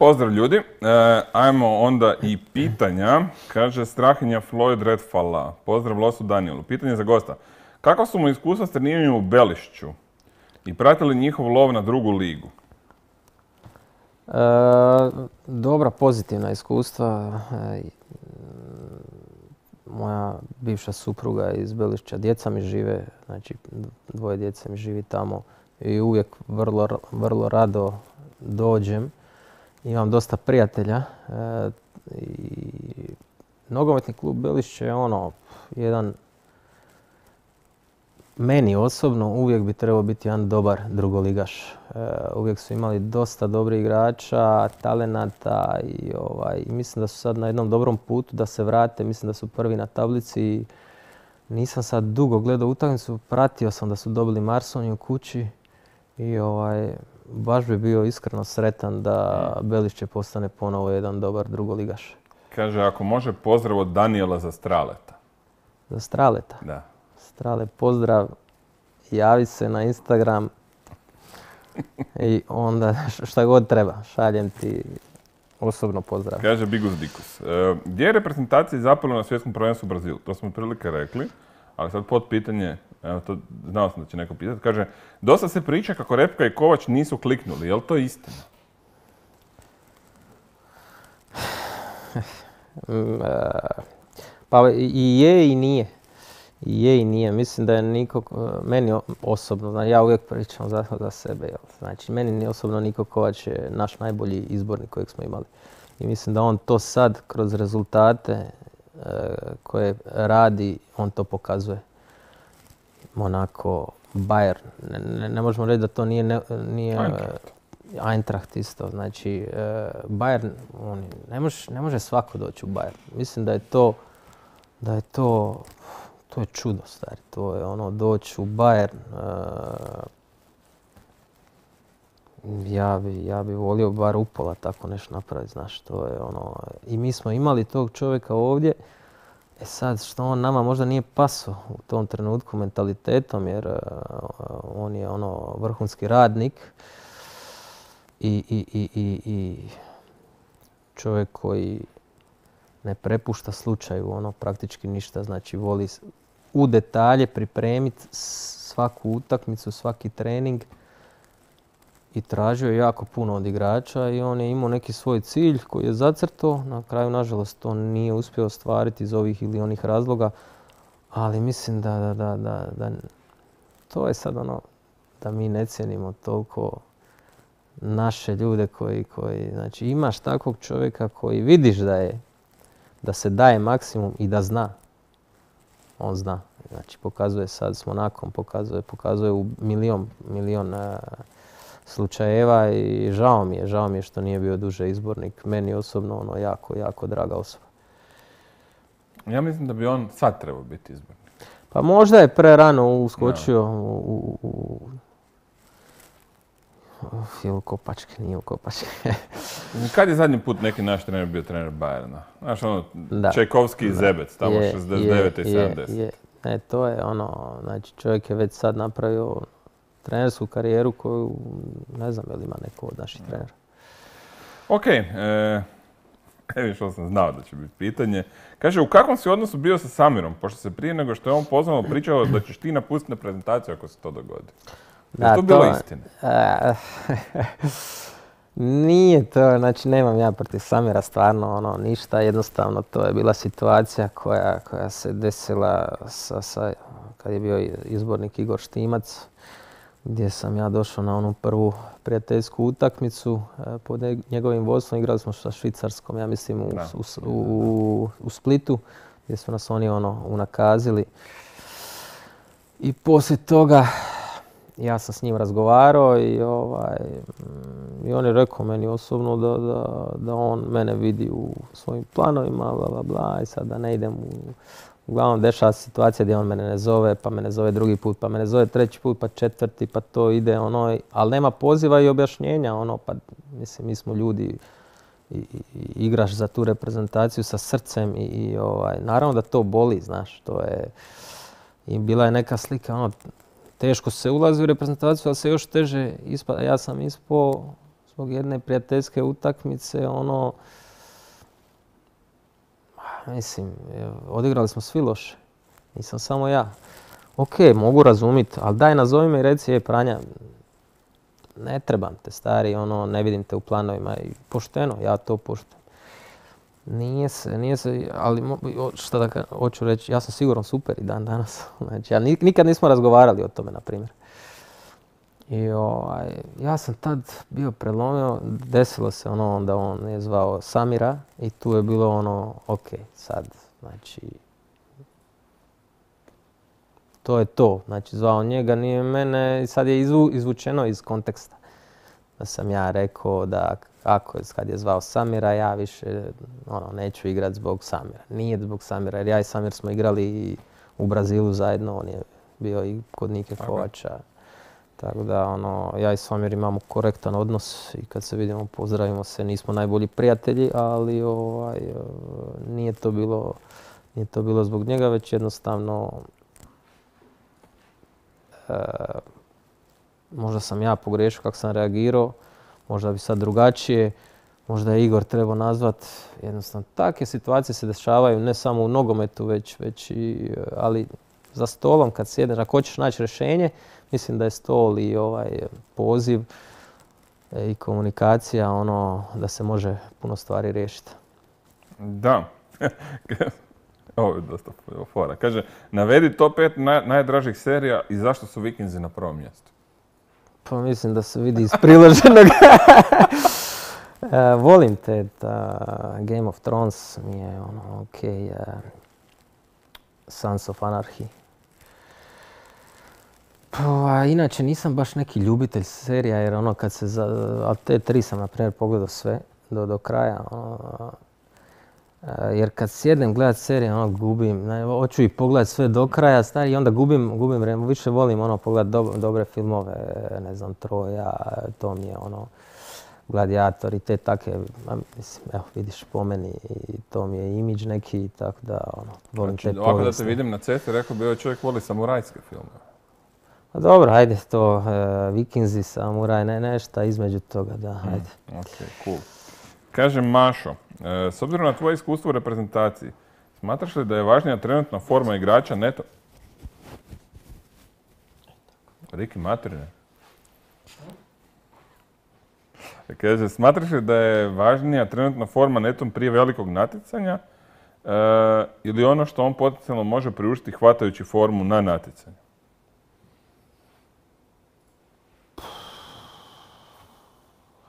Pozdrav ljudi, ajmo onda i pitanja. Kaže Strahinja Floyd Redfalla. Pozdrav Losu Danielu. Pitanje za gosta. Kako su mu iskustva s treniranjem u Belišću i pratili njihov lov na drugu ligu? Dobra, pozitivna iskustva. Moja bivša supruga je iz Belišća, djeca mi žive, znači dvoje djece mi živi tamo i uvijek vrlo rado dođem. Imam dosta prijatelja i nogometni klub Belišće je jedan, meni osobno uvijek bi trebao biti jedan dobar drugoligaš. Uvijek su imali dosta dobrih igrača, talenata i mislim da su sad na jednom dobrom putu da se vrate. Mislim da su prvi na tablici. Nisam sad dugo gledao utakmicu, pratio sam da su dobili Marsoniju kući i baš bi bio iskreno sretan da Belišće postane ponovo jedan dobar drugoligaš. Kaže, ako može pozdrav od Daniela za Straleta. Za Straleta? Da. Strale, pozdrav, javi se na Instagram i onda šta god treba, šaljem ti osobno pozdrav. Kaže Bigus Dikus. Gdje je reprezentacija zapela na svjetskom prvenstvu u Brazilu? To smo prilike rekli, ali sad pod pitanje, evo to znao sam da će neko pitati. Kaže, dosta se priča kako Repka i Kovač nisu kliknuli, je li to istina? Pa i je i nije. Je i nije. Mislim da je meni osobno, ja uvijek pričam za sebe. Znači, meni osobno Niko Kovač je naš najbolji izbornik kojeg smo imali. I mislim da on to sad kroz rezultate koje radi, on to pokazuje. Monaco, Bayern. Ne možemo reći da to nije Eintracht isto. Znači, Bayern, ne može svako doći u Bayern. Mislim da je to je čudo, stari. To je doći u Bayern. Ja bi volio bar upola tako nešto napraviti, znaš. To je I mi smo imali tog čovjeka ovdje. Sad, što on nama možda nije pasao u tom trenutku mentalitetom, jer on je vrhunski radnik i čovjek koji ne prepušta slučaju praktički ništa. Znači, voli u detalje pripremiti svaku utakmicu, svaki trening i tražio je jako puno od igrača i on je imao neki svoj cilj koji je zacrtao. Na kraju, nažalost, to nije uspio ostvariti iz ovih ili onih razloga, ali mislim da to je sad da mi ne cijenimo toliko naše ljude koji znači imaš takvog čovjeka koji vidiš da se daje maksimum i da zna. On zna. Znači, pokazuje sad s Monakom, pokazuje u milion slučajeva i žao mi je što nije bio duže izbornik. Meni osobno jako draga osoba. Ja mislim da bi on sad trebao biti izbornik. Pa možda je prerano uskočio u Kopačke, nije u Kopačke. Kad je zadnji put neki naš trener bio trener Bayerna? Znaš, Čajkovski i Zebec, tamo 69. i 70. Ne, to je znači čovjek je već sad napravio trenersku karijeru koju ne znam je li ima neko od naših trenera. Ok, evo što sam znao da će biti pitanje. Kaže, u kakvom si odnosu bio sa Samirom, pošto se prije nego što je on pozvano pričao da ćeš ti napustiti na prezentaciju ako se to dogodi? Je to bilo istina? Nije to, znači nemam ja protiv Samira stvarno ništa, jednostavno to je bila situacija koja se desila kad je bio izbornik Igor Štimac, gdje sam ja došao na onu prvu prijateljsku utakmicu pod njegovim vodstvom. Igrali smo sa Švicarskom, ja mislim u Splitu, gdje su nas oni unakazili. I poslije toga ja sam s njim razgovarao i on je rekao meni osobno da on mene vidi u svojim planovima, bla, bla, bla, i sad da ne idem uglavnom dešava se situacija gdje on mene ne zove, pa me ne zove drugi put, pa me ne zove treći put, pa četvrti, pa to ide ali nema poziva i objašnjenja, pa mislim mi smo ljudi i igraš za tu reprezentaciju sa srcem i naravno da to boli, znaš, to je, i bila je neka slika, teško se ulazi u reprezentaciju, ali se još teže ispada. Ja sam ispao zbog jedne prijateljske utakmice, ono, mislim, odigrali smo svi loše. Nisam samo ja. Ok, mogu razumjeti, ali daj nazovi me i reci, Pranja, ne trebam te stari, ono, ne vidim te u planovima i pošteno, ja to poštujem. Nije se, ali šta da hoću reći, ja sam sigurno super i dan danas. Znači, nikad nismo razgovarali o tome, na primjer. I ja sam tad bio prelomio, desilo se ono onda on je zvao Samira i tu je bilo ono, ok, sad, znači, to je to. Znači, zvao njega, nije mene i sad je izvučeno iz konteksta. Da sam ja rekao da kad je zvao Samira, ja više neću igrati zbog Samira. Nije zbog Samira, jer ja i Samir smo igrali i u Brazilu zajedno, on je bio i kod Nike Kovača. Tako da, ja i Samir imamo korektan odnos i kad se vidimo, pozdravimo se, nismo najbolji prijatelji, ali nije to bilo zbog njega, već jednostavno možda sam ja pogriješio kako sam reagirao, možda bi sad drugačije, možda je Igor trebao nazvat. Jednostavno, takve situacije se dešavaju ne samo u nogometu, već i, ali za stolom kad sjedneš, ako hoćeš naći rješenje, mislim da je stol i poziv i komunikacija da se može puno stvari riješiti. Da. Ovo je dosta fora. Kaže, navedi top 5 najdražih serija i zašto su Vikinzi na prvom mjestu? Pa mislim da se vidi iz priloženog. Volim te, Game of Thrones mi je okej. Sons of Anarchy. Pa, inače nisam baš neki ljubitelj serija jer kad se ali te 3 sam na primjer pogledao sve do kraja. Jer kad sjednem gledat serije, gubim. Hoću i pogledat sve do kraja, stari, i onda gubim vremena. Više volim pogledat dobre filmove, ne znam, Troja, to mi je Gladiator i te takve, mislim, evo, vidiš po meni, i to mi je imidž neki, tako da, volim te povijesne. Ovako da te vidim na cesti, rekao bi ovaj čovjek voli samurajske filmove. Pa dobro, ajde to, Vikinzi, samuraj, nešto između toga, da, ajde. Ok, cool. Kaže Mašo, s obzirom na tvoje iskustvo u reprezentaciji, smatraš li da je važnija trenutna forma igrača neto? Riki materine. Kaže, smatraš li da je važnija trenutna forma netom prije velikog natjecanja ili ono što on potencijalno može priuštiti hvatajući formu na natjecanju?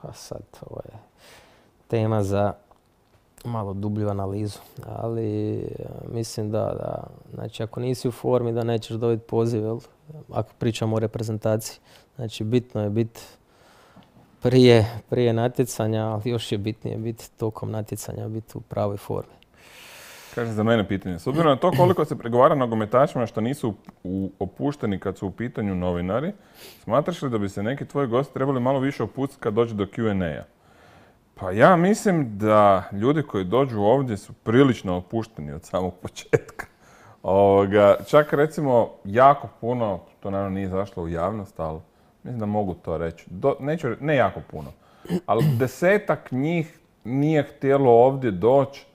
A sad, ovo je tema za malo dublju analizu, ali mislim da, znači ako nisi u formi da nećeš dobiti poziv, jel? Ako pričamo o reprezentaciji. Znači bitno je biti prije natjecanja, ali još je bitnije biti tokom natjecanja, biti u pravoj formi. Kaže za mene pitanje. S obzirom na to koliko se pregovara nogometašima što nisu opušteni kad su u pitanju novinari, smatraš li da bi se neki tvoji gosti trebali malo više opustiti kad dođe do Q&A-a? Pa ja mislim da ljudi koji dođu ovdje su prilično opušteni od samog početka. Čak recimo jako puno, to naravno nije zašlo u javnost, ali mislim da mogu to reći. Ne jako puno, ali 10-ak njih nije htjelo ovdje doći.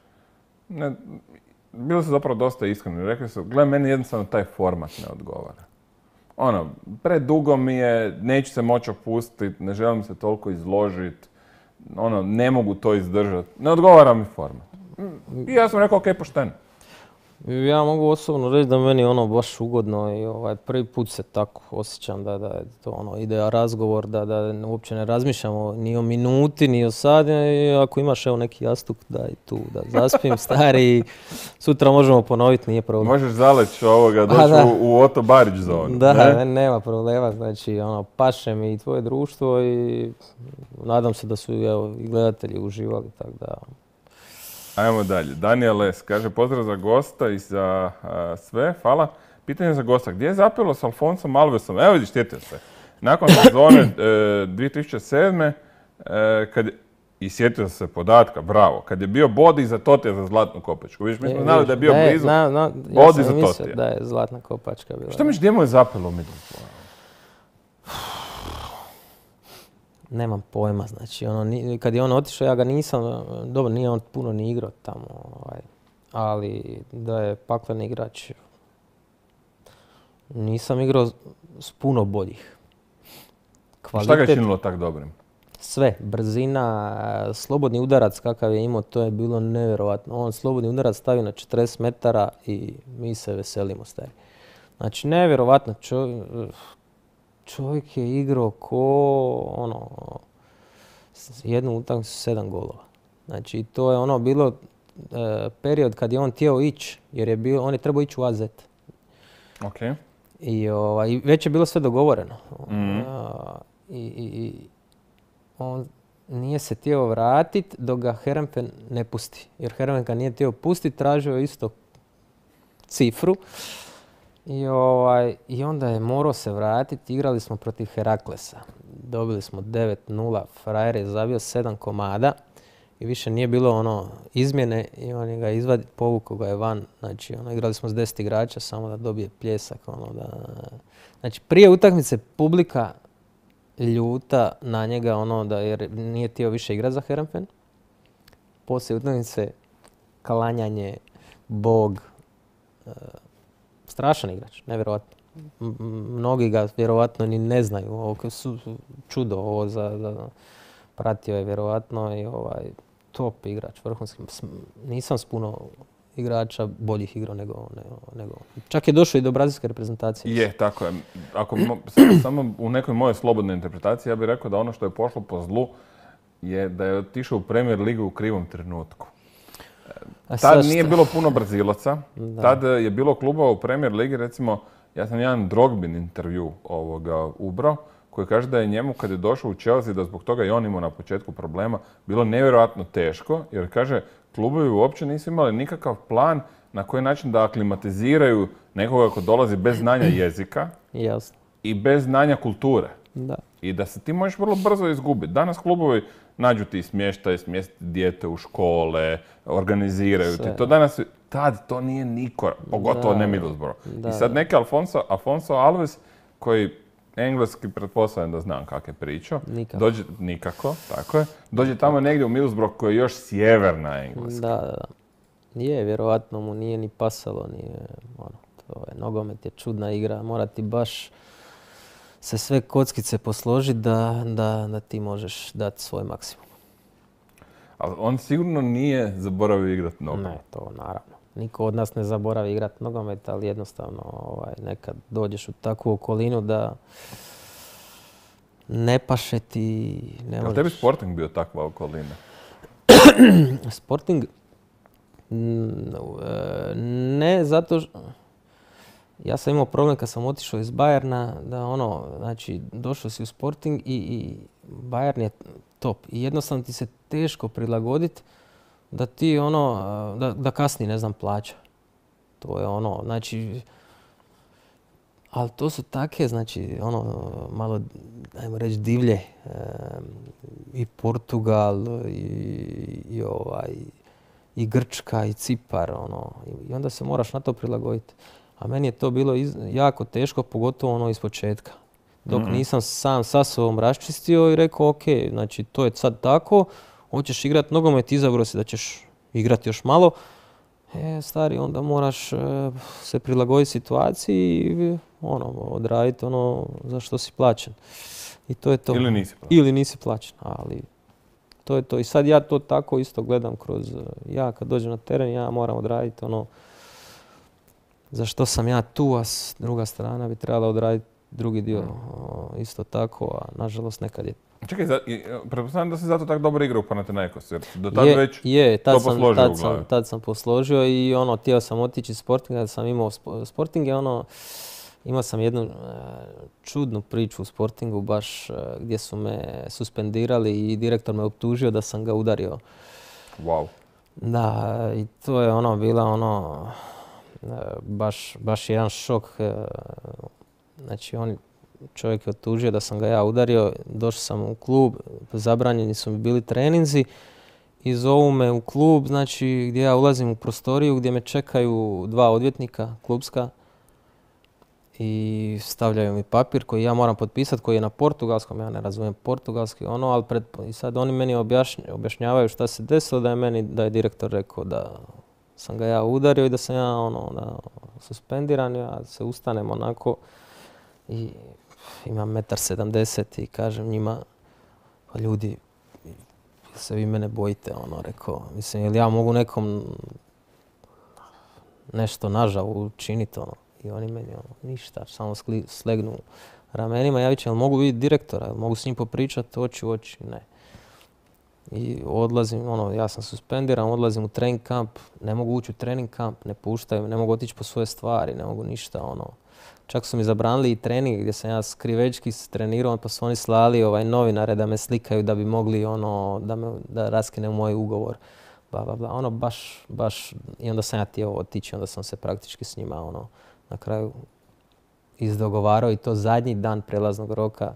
Bili su zapravo dosta iskreni. Rekli su, gle, meni jednostavno taj format ne odgovara. Predugo mi je, neću se moći opustiti, ne želim se toliko izložiti, ne mogu to izdržati. Ne odgovara mi format. I ja sam rekao, ok, pošteno. Ja mogu osobno reći da meni baš ugodno i prvi put se tako osjećam da je to ide razgovor, da uopće ne razmišljamo ni o minuti, ni o sat. I ako imaš neki jastuk, daj tu da zaspim stari, sutra možemo ponoviti, nije problem. Možeš zaleći doći u Oto Barić zonu. Da, nema problema, znači paše mi i tvoje društvo i nadam se da su i gledatelji uživali, tako da... Ajmo dalje. Daniel S. kaže pozdrav za gosta i za sve. Hvala. Pitanje za gosta. Gdje je zapelo s Alfonsom Alvesom? Evo vidiš, sjetio se. Nakon sezone 2007. I sjetio se podatka, bravo. Kad je bio bod iza Totija za Zlatnu kopačku. Vidiš, mi smo znali da je bio blizu bod iza Totija. Ja sam mislio da je Zlatna kopačka bila. Šta misliš, gdje mu je zapelo u Middlesbroughu? Nemam pojma, znači kad je on otišao ja ga nisam, dobro nije on puno ni igrao tamo, ali da je pakleni igrač, nisam igrao s puno boljih. Šta ga je činilo tak dobrim? Sve, brzina, slobodni udarac kakav je imao, to je bilo nevjerojatno. On slobodni udarac stavi na 40 metara i mi se veselimo, stari. Znači, nevjerojatno, čovjek je igrao jednu utakmicu 7 golova. Znači, to je bilo period kad je on htio ići, jer on je trebao ići u AZ. Okay. I već je bilo sve dogovoreno. I on nije se htio vratiti dok ga Heerenveen ne pusti. Jer Heerenveen ga nije htio pustiti, tražio isto cifru. I onda je morao se vratiti. Igrali smo protiv Heraklesa. Dobili smo 9-0. Frajer je zabio 7 komada. I više nije bilo izmjene. I on je ga izvadio, povukao ga je van. Znači, igrali smo s 10 igrača samo da dobije pljesak. Znači, prije utakmice publika ljuta na njega jer nije htio više igrati za Heerenveen. Poslije utakmice klanjanje, bog, strašan igrač, nevjerojatno. Mnogi ga vjerojatno ni ne znaju, ovo su čudo ovo pratio je vjerojatno i top igrač, vrhunski. Nisam s puno igrača boljih igrao nego. Čak je došao i do brazilske reprezentacije. Je, tako je. Samo u nekoj mojoj slobodnoj interpretaciji ja bih rekao da ono što je pošlo po zlu je da je otišao u Premier ligu u krivom trenutku. Tad nije bilo puno Brazilaca. Tad je bilo klubova u Premier ligi, recimo, ja sam jedan Drogbin intervju ubrao, koji kaže da je njemu kad je došao u Chelsea, da zbog toga i on imao na početku problema, bilo nevjerojatno teško, jer kaže, klubovi uopće nisu imali nikakav plan na koji način da aklimatiziraju nekoga ko dolazi bez znanja jezika i bez znanja kulture. Da. I da se ti možeš vrlo brzo izgubiti. Danas klubovi nađu ti smještaj, smjestiti dijete u škole, organiziraju ti. To danas, tad to nije niko, pogotovo ne Middlesbrough. I sad neki Afonso Alves, koji engleski pretpostavljam da znam kak je pričao. Nikako, tako je. Dođe tamo negdje u Middlesbrough koji je još sjeverna Engleska. Da. Je, vjerovatno mu nije ni pasalo, nogomet je čudna igra, mora ti baš se sve kockice posložiti da ti možeš dati svoj maksimum. Ali on sigurno nije zaboravio igrati nogomet. Ne, to naravno. Niko od nas ne zaboravi igrati nogomet, ali jednostavno nekad dođeš u takvu okolinu da ne paše ti, ne možeš. Ali tebi Sporting bio takva okolina? Sporting? Ne, zato ja sam imao problem kad sam otišao iz Bayerna, da znači došao si u Sporting i Bayern je top. I jednostavno ti se teško prilagoditi da ti da kasni, ne znam, plaća. To je znači, ali to su take, znači, malo, ajmo reći, divlje. I Portugal, i Grčka, i Cipar, i onda se moraš na to prilagoditi. A meni je to bilo jako teško, pogotovo iz početka. Dok nisam sam sa sobom raščistio i rekao, ok, znači, to je sad tako, hoćeš igrati nogomet, izabrao si da ćeš igrati još malo, stari, onda moraš se prilagoditi situaciji i odraditi za što si plaćen. I to je to. Ili nisi plaćen. Ali to je to. I sad ja to tako isto gledam kroz, ja kad dođem na teren, ja moram odraditi za što sam ja tu, a druga strana bi trebala odraditi drugi dio isto tako, a nažalost nekad je. Čekaj, pretpostavljam da si zato tako dobro igrao u Panathinaikosu, jer do tad već to posložio u glavi. Tad sam posložio i htio sam otići iz Sportinga, da sam imao Sporting je imao sam jednu čudnu priču u Sportingu baš gdje su me suspendirali i direktor me optužio da sam ga udario. Wow. Da, i to je bila baš jedan šok. Znači čovjek je optužio da sam ga ja udario, došao sam u klub, zabranjeni su mi bili treninzi i zovu me u klub, znači gdje ja ulazim u prostoriju gdje me čekaju 2 odvjetnika klubska i stavljaju mi papir koji ja moram potpisati, koji je na portugalskom, ja ne razumijem portugalski, ali i sad oni meni objašnjavaju šta se desilo, da je direktor rekao da sam ga ja udario i da sam ja da suspendiran, ja se ustanem onako i imam 1,70 m i kažem njima, pa ljudi, se vi mene bojite, rekao, mislim, jel ja mogu nekom nešto nažao učiniti, i oni meni, ništa, samo slegnu ramenima, ja vićem, jel mogu vidjeti direktora, jel mogu s njim popričati oči u oči, ne. I odlazim, ja sam suspendiran, odlazim u trening kamp, ne mogu ući u trening kamp, ne puštaju, ne mogu otići po svoje stvari, ne mogu ništa, Čak su mi zabranili i trening gdje sam ja skrivečki trenirao, pa su oni slali novinare da me slikaju da bi mogli da raskinem moj ugovor. Baš, i onda sam ja htio otići, onda sam se praktički s njima na kraju izdogovarao i to zadnji dan prelaznog roka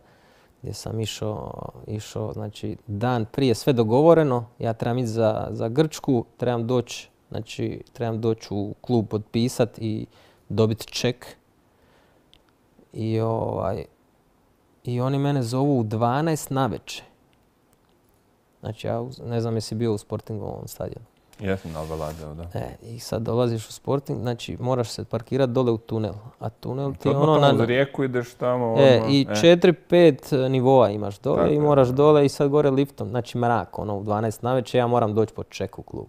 gdje sam išao, znači dan prije sve dogovoreno, ja trebam ići za Grčku, trebam doći u klub potpisati i dobiti ček. I oni mene zovu u 12 navečer. Znači, ja ne znam jesi bio u Sportingovom stadionu. Jesam, na Alvalade, da. I sad dolaziš u Sporting, znači moraš se parkirati dole u tunel. A tunel ti je tamo uz rijeku ideš tamo. I 4-5 nivoa imaš dole tako, i moraš dole i sad gore liftom. Znači mrak, u 12 navečer ja moram doći po ček u klub.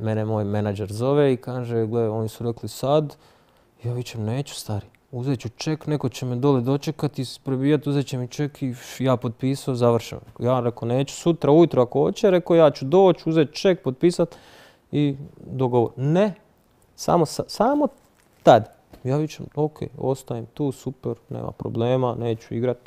Mene moj menadžer zove i kaže, gle, oni su rekli sad, ja vićem, neću stari. Uzet ću ček, neko će me dole dočekati, prebijati, uzet će mi ček i ja potpisao, završeno. Ja rekao, neću, sutra ujutro ako hoće, rekao ja ću doći, uzet ček, potpisati i dogovor. Ne, samo tad. Ja vićem, ok, ostajem tu, super, nema problema, neću igrat.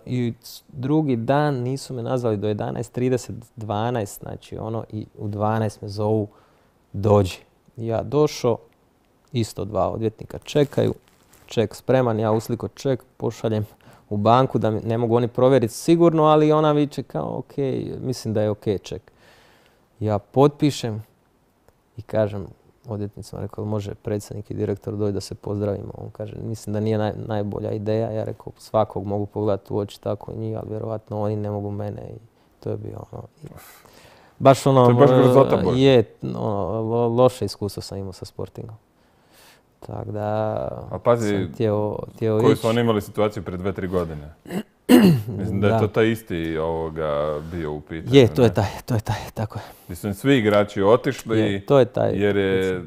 I drugi dan nisu me nazvali do 11:30, 12, znači i u 12 me zovu, dođi. Ja došao, isto 2 odvjetnika čekaju, ček spreman, ja usliko ček, pošaljem u banku da ne mogu oni provjeriti sigurno, ali ona viče kao ok, mislim da je ok ček. Ja potpišem i kažem odvjetnicima, rekao može predsjednik i direktor doći da se pozdravimo. On kaže, mislim da nije najbolja ideja. Ja rekao, svakog mogu pogledati u oči tako i njih, ali vjerovatno oni ne mogu mene i to je bio baš to je baš grzota Bož. Loše iskustvo sam imao sa Sportingom. Tako da a pazi, sam htio koju su oni imali situaciju pred 2-3 godine? Mislim da je to taj isti bio u pitanju. Je, to je taj, tako je. Mislim, svi igrači otišli to je taj jer je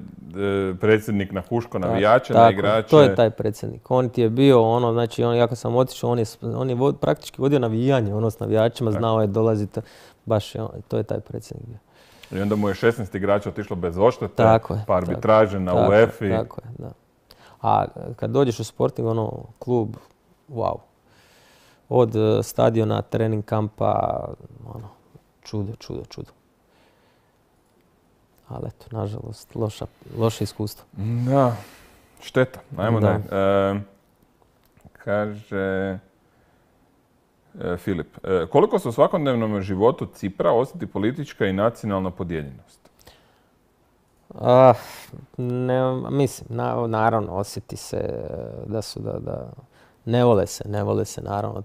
predsjednik nahuško navijače na igrače. To je taj predsjednik. On ti je bio znači ja kad sam otišao, on je praktički vodio navijanje, s navijačima, znao je dolaziti, baš to je taj predsjednik bio. I onda mu je 16 igrača otišlo bez odštete, pa arbitraže na UEFA-i. Tako je, da. A kad dođeš u Sporting, klub, wow. Od stadiona, trening kampa, čudo. Ali eto, nažalost, loše iskustvo. Da, šteta. Ajmo dalje. Kaže Filip, koliko se u svakodnevnom životu Cipra osjeti politička i nacionalna podijeljenost? Mislim, naravno osjeti se da ne vole se naravno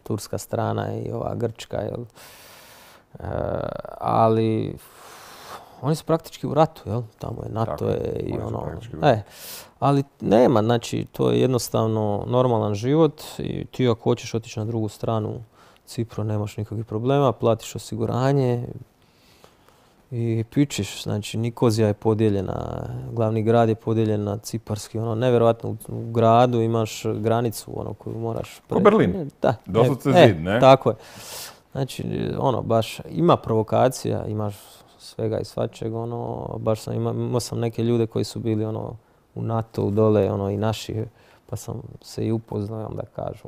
turska strana i ova grčka, ali oni su praktički u ratu, jel? Tamo je NATO i ali nema, znači to je jednostavno normalan život i ti ako hoćeš otići na drugu stranu Cipru nemaš nikakvih problema, platiš osiguranje i pičiš, znači Nikozija je podijeljena, glavni grad je podijeljen na ciparski, nevjerojatno u gradu imaš granicu koju moraš preći. Ko Berlin? Da. Doslovce zid, ne? Tako je. Znači, baš ima provokacija, imaš svega i svačeg, baš imao sam neke ljude koji su bili u NATO-u dole, i naši, pa sam se i upoznao, da kažu,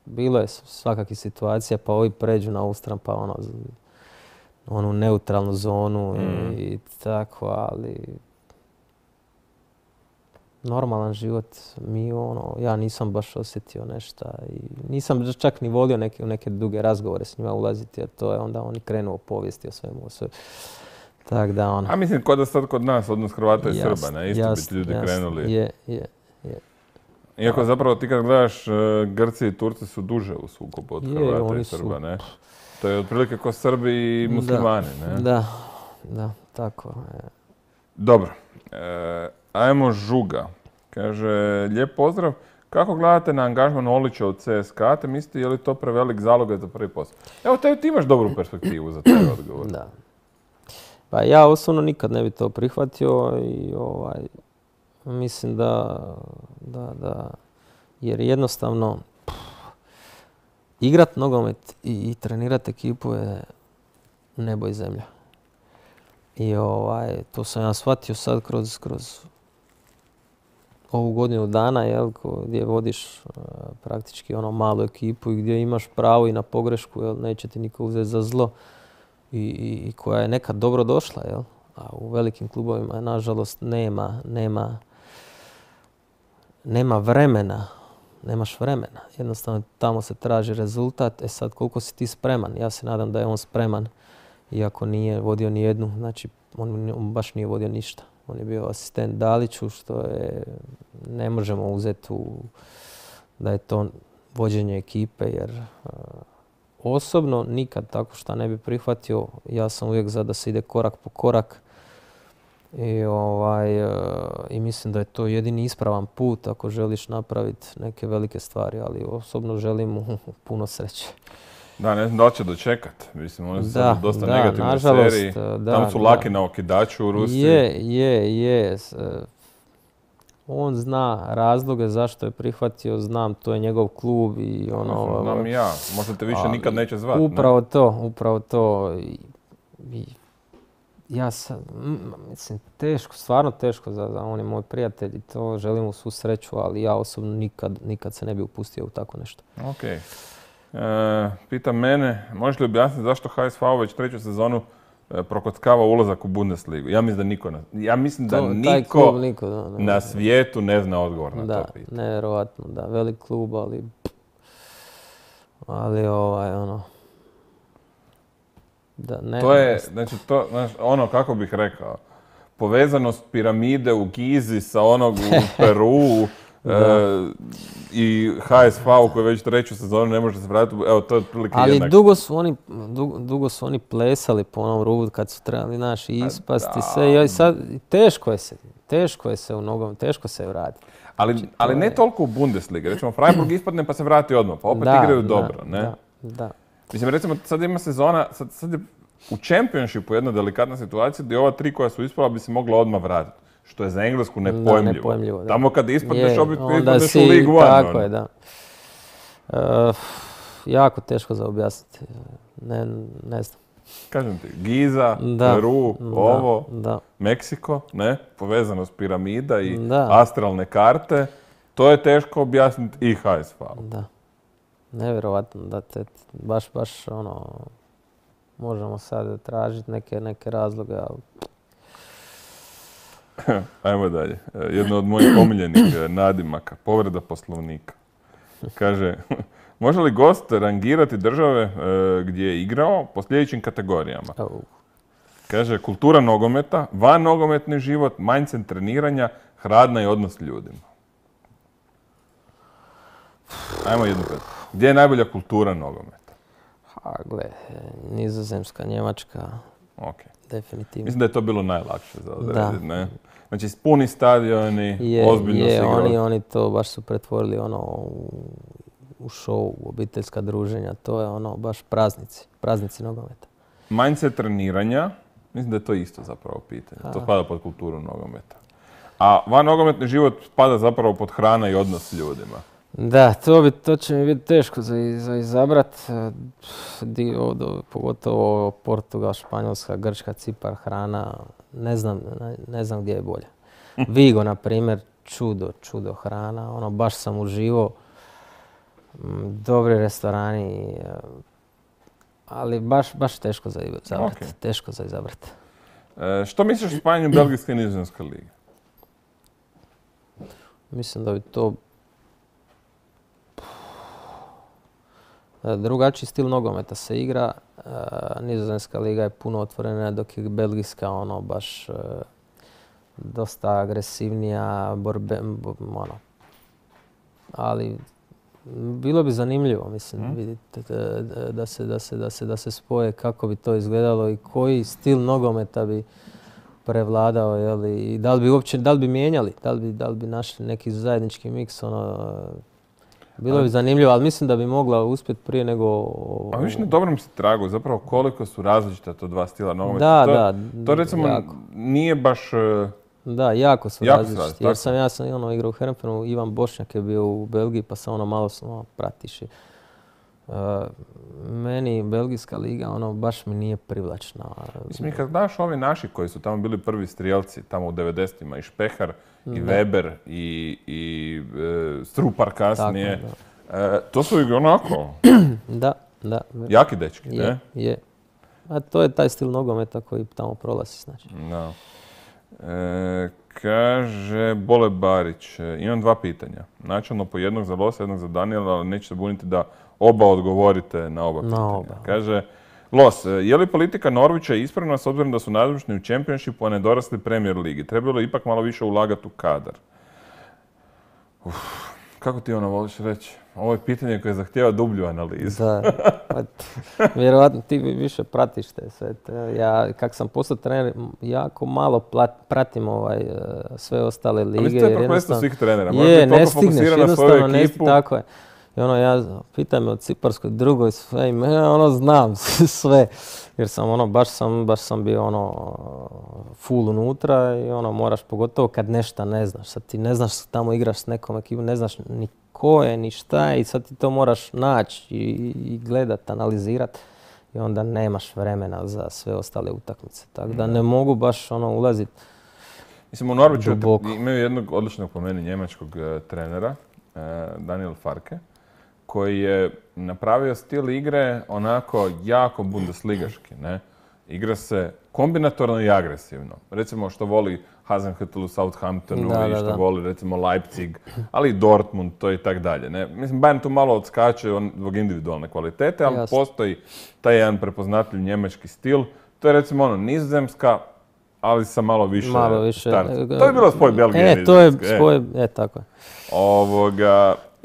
bilo je svakakih situacija, pa ovi pređu na Austran, pa onu neutralnu zonu i tako, ali normalan život mi ja nisam baš osjetio nešto i nisam čak ni volio neke duge razgovore s njima ulaziti, jer to je onda oni krenu o povijesti, o svemu, o sve. Tak da A mislim, kod nas, odnos Hrvata i Srba, ne? Isto bi ti ljudi krenuli. Je. Iako zapravo ti kad gledaš, Grci i Turci su duže u sukobu od Hrvata i Srba, ne? To je otprilike ko Srbi i muslimani, ne? Da, tako je. Dobro. Ajmo Žuga. Kaže, lijep pozdrav. Kako gledate na angažman Olića u CSKA, te mislite je li to prevelik zalogaj za prvi posao? Evo, ti imaš dobru perspektivu za taj odgovor. Da. Pa ja osobno nikad ne bi to prihvatio i mislim da jer jednostavno igrat nogomet i trenirat ekipu je nebo i zemlja. I to sam ja shvatio sad kroz ovu godinu dana, gdje vodiš praktički malu ekipu i gdje imaš pravo i na pogrešku, neće ti niko uzeti za zlo i koja je nekad dobro došla, a u velikim klubovima nažalost nema vremena, nemaš vremena. Jednostavno tamo se traži rezultat, sad koliko si ti spreman, ja se nadam da je on spreman, iako nije vodio ni jednu, znači on baš nije vodio ništa. On je bio asistent Daliću, što je, ne možemo uzeti da je to vođenje ekipe, jer osobno nikad tako šta ne bi prihvatio. Ja sam uvijek za da se ide korak po korak i mislim da je to jedini ispravan put ako želiš napraviti neke velike stvari, ali osobno želim mu puno sreće. Da, ne znam da li će dočekat. Mislim, oni su sad dosta negativne seriji. Tam su laki na okidaču u Rusiji. Je. On zna razloge zašto je prihvatio, znam, to je njegov klub i Znam i ja. Možda te više nikad neće zvati. Upravo to. Ja sam, mislim, teško, stvarno teško on je moj prijatelj i to želim mu svu sreću, ali ja osobno nikad se ne bi upustio u tako nešto. Okej. Pita mene, možeš li objasniti zašto HSV već treću sezonu prokockava ulazak u Bundesligu? Ja mislim da niko na svijetu ne zna odgovor na to pitanje. Nevjerojatno, da. Velik klub, ali da, ne. To je, znači, kako bih rekao, povezanost piramide u Gizi sa onog u Peruu, i HSV koji već treću sezonu ne može se vratiti, evo to je otprilike jednak. Ali dugo su oni plesali po onom rubu kad su trebali ispasti sve i sad teško je se u nogom, teško se vratiti. Ali ne toliko u Bundesligi, recimo Freiburg ispadne pa se vrati odmah, pa opet igraju dobro, ne? Da. Mislim, recimo sad ima sezona, sad je u Championshipu jedna delikatna situacija gdje ova tri koja su ispala bi se mogla odmah vratiti. Što je za Englesku nepojmljivo. Da. Tamo kad ispadneš, ispadneš u League One. Tako je, da. Jako teško za objasniti. Ne znam. Kažem ti, Giza, Peru, Meksiko, ne? Povezanost piramida i astralne karte. To je teško objasniti i HSV. Da. Nevjerovatno da baš možemo sad tražiti neke razloge, ali... Ajmo dalje. Jedno od mojih omiljenih nadimaka, povreda Poslovnika. Kaže, može li gost rangirati države gdje je igrao po sljedećim kategorijama? Kaže, kultura nogometa, van nogometni život, mindset treniranja, hrana i odnos s ljudima. Ajmo jednu pet. Gdje je najbolja kultura nogometa? Nizozemska, Njemačka. Okay. Definitivno. Mislim da je to bilo najlakše za odrediti, ne? Znači, puni stadioni, ozbiljno se igrali. Oni to baš su pretvorili u show, u obiteljska druženja. To je baš praznici nogometa. Mindset treniranja, mislim da je to isto zapravo pitanje. To spada pod kulturu nogometa. A van nogometni život spada zapravo pod hrana i odnos s ljudima. Da, to će mi biti teško za izabrat. Pogotovo Portugal, Španjolska, Grčka, Cipar, hrana. Ne znam gdje je bolje. Vigo, na primjer, čudo hrana. Baš sam uživao. Dobri restorani. Ali baš teško za izabrat. Okay. Teško za izabrat. Što misliš o spajanju Belgijske i Nizozemske lige? Mislim da bi to drugačiji stil nogometa se igra. Nizozemska liga je puno otvorena, dok je belgijska baš dosta agresivnija, ali bilo bi zanimljivo, mislim, vidite, da se spoje kako bi to izgledalo i koji stil nogometa bi prevladao, i da li bi mijenjali, da li bi našli neki zajednički miks, bilo bi zanimljivo, ali mislim da bi mogla uspjeti prije nego... A viš na dobrom si tragu, zapravo koliko su različita to dva stila nogometa. To recimo jako. Nije baš... Da, jako su različiti. Jer ja sam igrao u Herrenfernu, Ivan Bošnjak je bio u Belgiji, pa sam malo pratiš. Meni belgijska liga baš mi nije privlačna. Mislim, kad znaš ovi naši koji su tamo bili prvi strijelci, tamo u 90-ima, i Špehar, i Weber, i Strupar kasnije, to su onako... Da. Jaki dečki, ne? Je. A to je taj stil nogometa koji tamo prolazi, znači. Da. Kaže Bole Barić, imam dva pitanja. Načelno po jednog za Losa, jednog za Daniela, ali neću se buniti da oba odgovorite na oba pitanja. Kaže, Los, je li politika Norwicha ispravna s obzirom da su nazočni u Championshipu, a ne dorasli Premier ligi? Trebalo je ipak malo više ulagati u kadar. Kako ti voliš reći? Ovo je pitanje koje zahtijeva dublju analizu. Da, vjerovatno ti više pratiš te sve. Ja, kak sam postao trener, jako malo pratim sve ostale lige. Ali to je prokletstvo svih trenera. Ne stigneš, jednostavno ne stigneš, tako je. I ja pitam me o Ciparskoj drugoj sve, znam sve. Jer sam baš sam bio full unutra i moraš, pogotovo kad nešto ne znaš. Sad ti ne znaš, tamo igraš s nekom ekipom, ne znaš ni ko je, ni šta je i sad ti to moraš naći i gledat, analizirat. I onda nemaš vremena za sve ostale utakmice. Tako da ne mogu baš ulaziti. Mislim, u Norwichu imaju jednog odličnog po meni njemačkog trenera, Daniel Farke, koji je napravio stil igre onako jako bundesligaški, ne? Igra se kombinatorno i agresivno. Recimo što voli Hasenhüttl u Southamptonu i što voli recimo Leipzig, ali i Dortmund, to i tak dalje. Ne? Mislim, Bayern tu malo odskače zbog individualne kvalitete, ali postoji taj jedan prepoznatljiv njemački stil. To je recimo Nizozemska, ali sa malo više starca. To je bilo spoj Belgije i Nizozemske. To je spoj, tako je.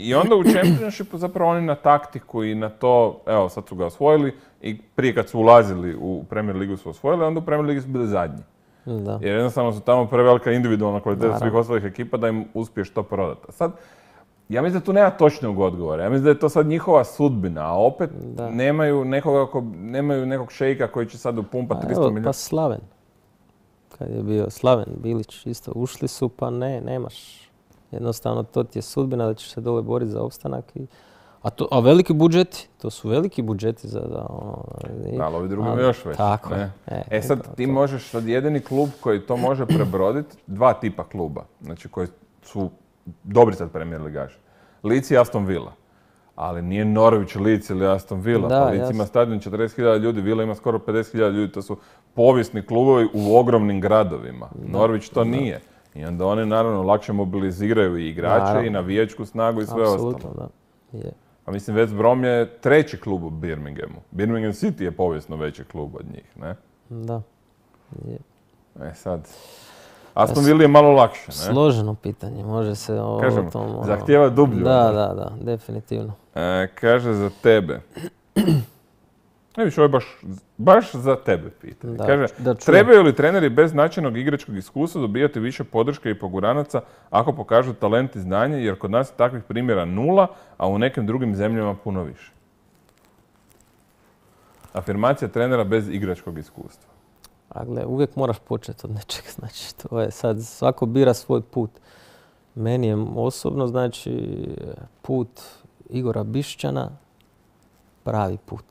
I onda u Championshipu zapravo oni na taktiku i na to, evo sad su ga osvojili i prije kad su ulazili u Premier ligu su osvojili, onda u Premier ligi su bili zadnji. Da. Jer jednostavno su tamo prevelika individualna kvaliteta svih ostalih ekipa da im uspiješ to prodati. Sad, ja mislim da tu nema točnog odgovora. Ja mislim da je to sad njihova sudbina, a opet nemaju nekog šejka koji će sad upumpati 300 milijuna. Pa Slaven. Kad je bio Slaven Bilić isto, ušli su pa nemaš. Jednostavno to ti je sudbina da ćeš se dole boriti za opstanak. A veliki budžeti, to su veliki budžeti za... ali ovi drugi imaju još veći. Tako je. Sad ti možeš, sad jedini klub koji to može prebroditi, dva tipa kluba, znači koji su dobri sad Premier ligaši. Leeds i Aston Villa. Ali nije Norwich, Leeds ili Aston Villa. Pa Leeds ima stadion 40.000 ljudi, Villa ima skoro 50.000 ljudi, to su povijesni klubovi u ogromnim gradovima. Norwich to nije. I onda oni naravno lakše mobiliziraju i igrače i navijačku snagu i sve ostalo. Apsolutno, da. A mislim, West Brom je treći klub u Birminghamu. Birmingham City je povijesno veći klub od njih, ne? Da. Sad, Aston Villa je malo lakše, ne? Složeno pitanje, može se o kažem, tom... zahtijeva dublju. Da, definitivno. Kaže za tebe. Ovo je baš za tebe pitanje. Kaže, trebaju li treneri bez značajnog igračkog iskustva dobijati više podrške i poguranaca ako pokažu talent i znanje, jer kod nas je takvih primjera 0, a u nekim drugim zemljama puno više. Afirmacija trenera bez igračkog iskustva. A gle, uvijek moraš početi od nečeg, znači to je sad, svako bira svoj put. Meni je osobno, znači, put Igora Bišćana pravi put.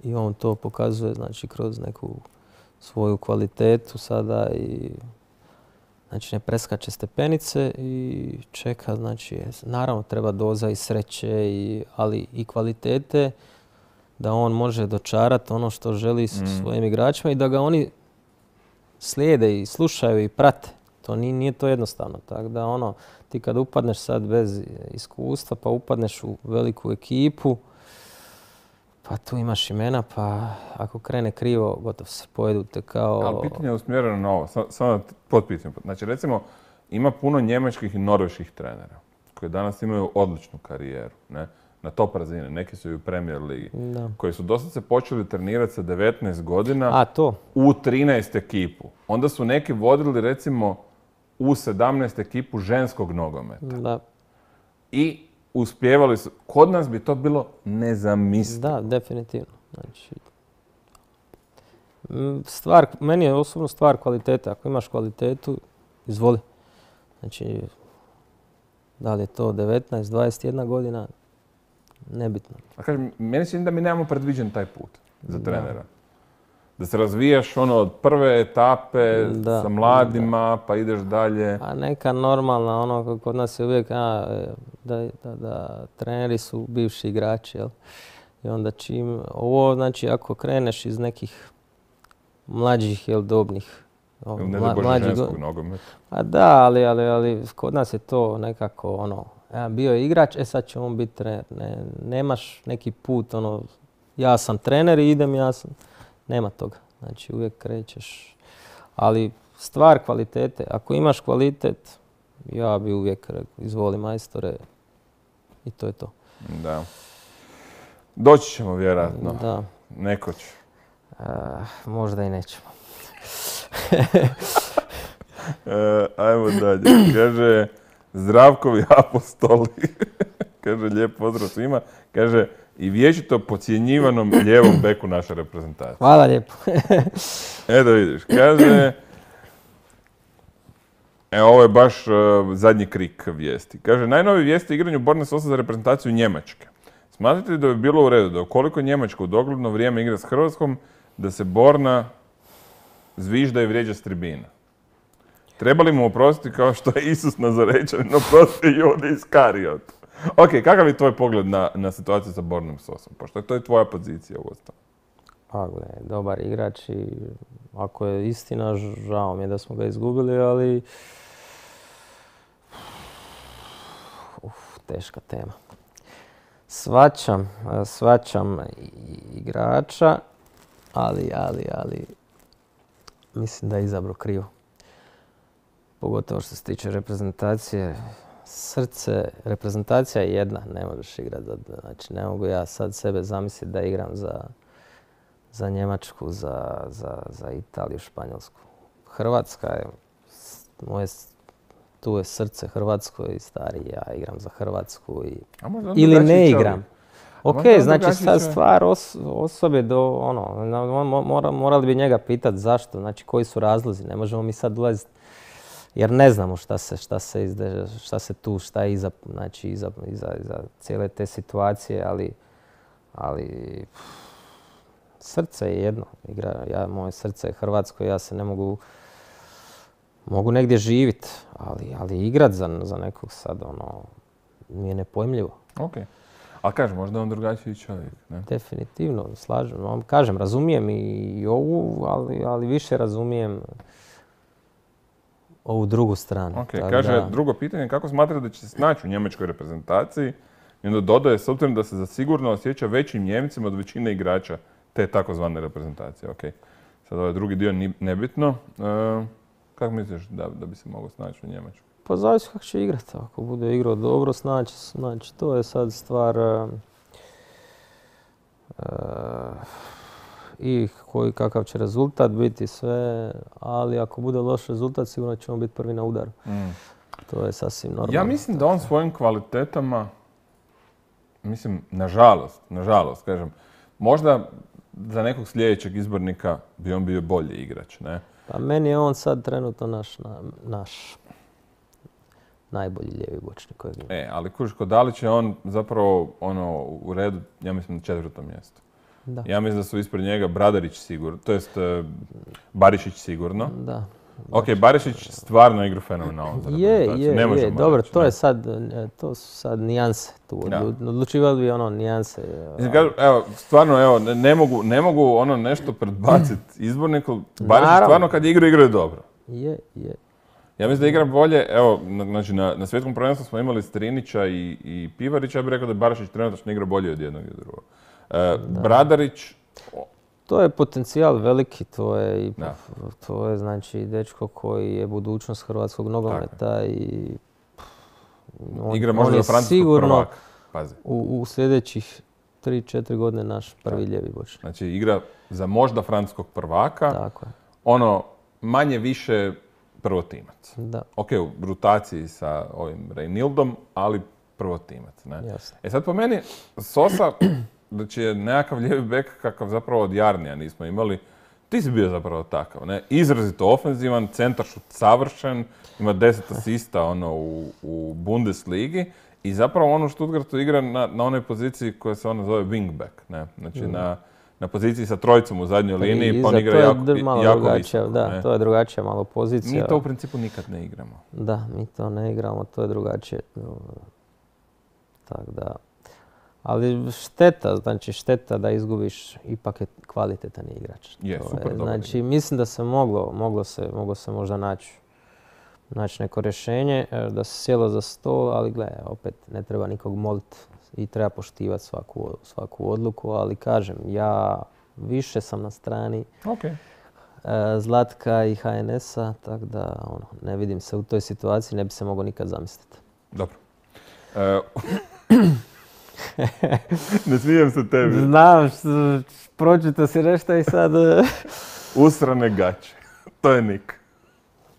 I on to pokazuje, znači, kroz neku svoju kvalitetu sada i znači ne preskače stepenice i čeka, znači, naravno treba doza i sreće, ali i kvalitete da on može dočarati ono što želi svojim igračima i da ga oni slijede i slušaju i prate. To nije to jednostavno. Tako da ti kad upadneš sad bez iskustva, pa upadneš u veliku ekipu, pa tu imaš imena, pa ako krene krivo, gotovo se pojedu te kao... Ali pitanje je usmjereno na ovo, samo da potpitam. Znači recimo, ima puno njemačkih i norveških trenera koji danas imaju odličnu karijeru, ne? Na top razine, neki su i u Premier ligi, Da. koji su dosad se počeli trenirati sa 19 godina A, to. u 13 ekipu. Onda su neki vodili recimo u 17 ekipu ženskog nogometa. Da. I uspijevali su. Kod nas bi to bilo nezamislivo. Da, definitivno. Znači, meni je osobno stvar kvalitete. Ako imaš kvalitetu, izvoli. Znači, da li je to 19, 21 godina, nebitno. A kažem, meni se čini da mi nemamo predviđen taj put za trenera. Da se razvijaš od prve etape sa mladima, pa ideš dalje. A neka normalna, kod nas je uvijek da treneri su bivši igrači, jel? I onda znači ako kreneš iz nekih mlađih, dobnih, ne da bože ženskog nogometa. A da, ali kod nas je to nekako bio je igrač, sad će on biti trener. Nemaš neki put, ja sam trener i idem, nema toga. Znači uvijek krećeš. Ali stvar kvalitete, ako imaš kvalitet, ja bi uvijek rekao, izvoli majstore i to je to. Da. Doći ćemo vjerojatno. Da. Nekoć. Možda i nećemo. Ajmo dalje. Kaže, Zdravkovi apostoli. Kaže, lijep pozdrav svima. Kaže, i vječito podcjenjivanom lijevom beku naše reprezentacije. Hvala lijepo. Da vidiš. Kaže, ovo je baš zadnji krik vijesti. Kaže, najnovije vijesti o igranju Borna Sosa za reprezentaciju Njemačke. Smatrate li da bi bilo u redu da ukoliko Njemačka u dogledno vrijeme igra s Hrvatskom, da se Borna zvižda i vrijeđa s tribina? Treba li mu oprostiti kao što je Isus Nazarečanin oprostio Judi Iskariot? Ok, kakav je tvoj pogled na situaciju sa Bornom Sosom? Pošto to je tvoja pozicija u osnovu. Dobar igrač i ako je istina, žao mi je da smo ga izgubili, ali teška tema. Svačam igrača, ali mislim da je izabrao krivo. Pogotovo što se tiče reprezentacije. Reprezentacija je jedna, ne možeš igrati. Znači, ne mogu ja sad sebe zamisliti da igram za Njemačku, za Italiju, Španjolsku. Hrvatska je, tu je srce Hrvatsko i stari, ja igram za Hrvatsku ili ne igram. Ok, znači sad stvar osobe morali bi njega pitati zašto, znači koji su razlozi, ne možemo mi sad ulaziti jer ne znamo šta je iza cijele te situacije, ali srce je jedno. Moje srce je Hrvatsko, ja se ne mogu negdje živjeti, ali igrat za nekog sad, mi je nepojmljivo. Ok. Ali kažem, možda je on drugačiji čovjek, ne? Definitivno, slažem. Kažem, razumijem i ovu, ali više razumijem ovu drugu stranu. Ok, kaže drugo pitanje, kako smatrate da će se snaći u njemačkoj reprezentaciji? I onda dodaje, s obzirom da se zasigurno osjeća većim Njemcima od većine igrača te takozvane reprezentacije. Ok, sad ovaj drugi dio nebitno. Kako misliš da bi se mogao snaći u Njemačkoj? Pa zavisi kako će igrati. Ako bude igrao dobro, znači to je sad stvar i kakav će rezultat biti sve, ali ako bude loš rezultat, sigurno ćemo biti prvi na udaru. To je sasvim normalno. Ja mislim da on svojim kvalitetama, nažalost, kažem, možda za nekog sljedećeg izbornika bi on bio bolji igrač, ne? Pa meni je on sad trenutno naš najbolji lijevi bočnik kojeg ima. Ali kod Dalića je on zapravo u redu, ja mislim, na 4. mjestu. Da. Ja mislim da su ispred njega Bradarić sigurno, to jest Barišić sigurno. Da. Ok, Barišić stvarno igra fenomenalno za reprezentaciju. Je, dobro, to su sad nijanse tu. Odlučivali bi nijanse. Stvarno, ne mogu nešto predbaciti izborniku. Barišić stvarno kad igraju dobro. Je. Ja mislim da igra bolje, znači na svjetskom prvenstvu smo imali Strinića i Pivarića, ja bih rekao da je Barišić trenutačno igra bolje od jednog i od drugog. Bradarić... To je potencijal veliki, to je znači dečko koji je budućnost hrvatskog nogometa i Igra možda za francuskog prvaka. Pazi. U sljedećih 3-4 godine naš prvi lijevi bočni. Znači igra za možda francuskog prvaka. Tako je. Ono, manje više prvotimac. Da. Ok, u rotaciji sa ovim Reinildom, ali prvotimac. Ne? Jasno. Sad po meni, Sosa, da će nekakav lijevi bek kakav zapravo od Jarnija nismo imali, ti si bio zapravo takav, ne? Izrazito ofenzivan, centaršut savršen, ima 10 asista u Bundesligi i zapravo ono Stuttgartu igra na onoj poziciji koja se ona zove wingback, ne? Znači na poziciji sa trojicom u zadnjoj liniji, pa on igra jako visoko. Da, to je drugačija malo pozicija. Mi to u principu nikad ne igramo. Da, mi to ne igramo, to je drugačije. Tako da... Ali šteta da izgubiš, ipak je kvalitetan igrač. Je, super dobar. Znači, mislim da se moglo se možda naći neko rješenje, da se sjelo za stol, ali gledaj, opet ne treba nikog moliti i treba poštivati svaku odluku, ali kažem, ja više sam na strani Zlatka i HNS-a, tako da ne vidim se u toj situaciji, ne bi se mogao nikad zamisliti. Dobro. Ne smijem se tebi. Znam, pročito si nešto i sad... Usrane gaće. To je Nik.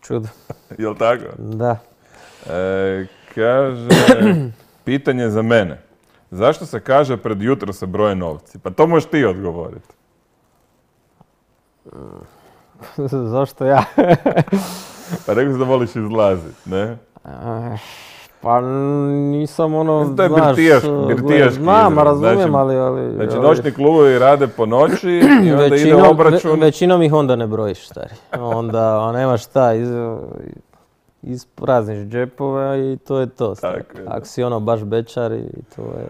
Čudo. Jel' tako? Da. Kaže, pitanje za mene. Zašto se kaže pred jutro se broje novci? Pa to možeš ti odgovoriti. Zašto ja? Pa rekao si da voliš izlaziti, ne? Pa nisam to je birtijaški znam, razumijem, ali... Znači, noćni klubovi rade po noći i onda ide obračun. Većinom ih onda ne brojiš, stari. Onda nema šta, isprazniš džepove i to je to. Ako si baš bečar i to je...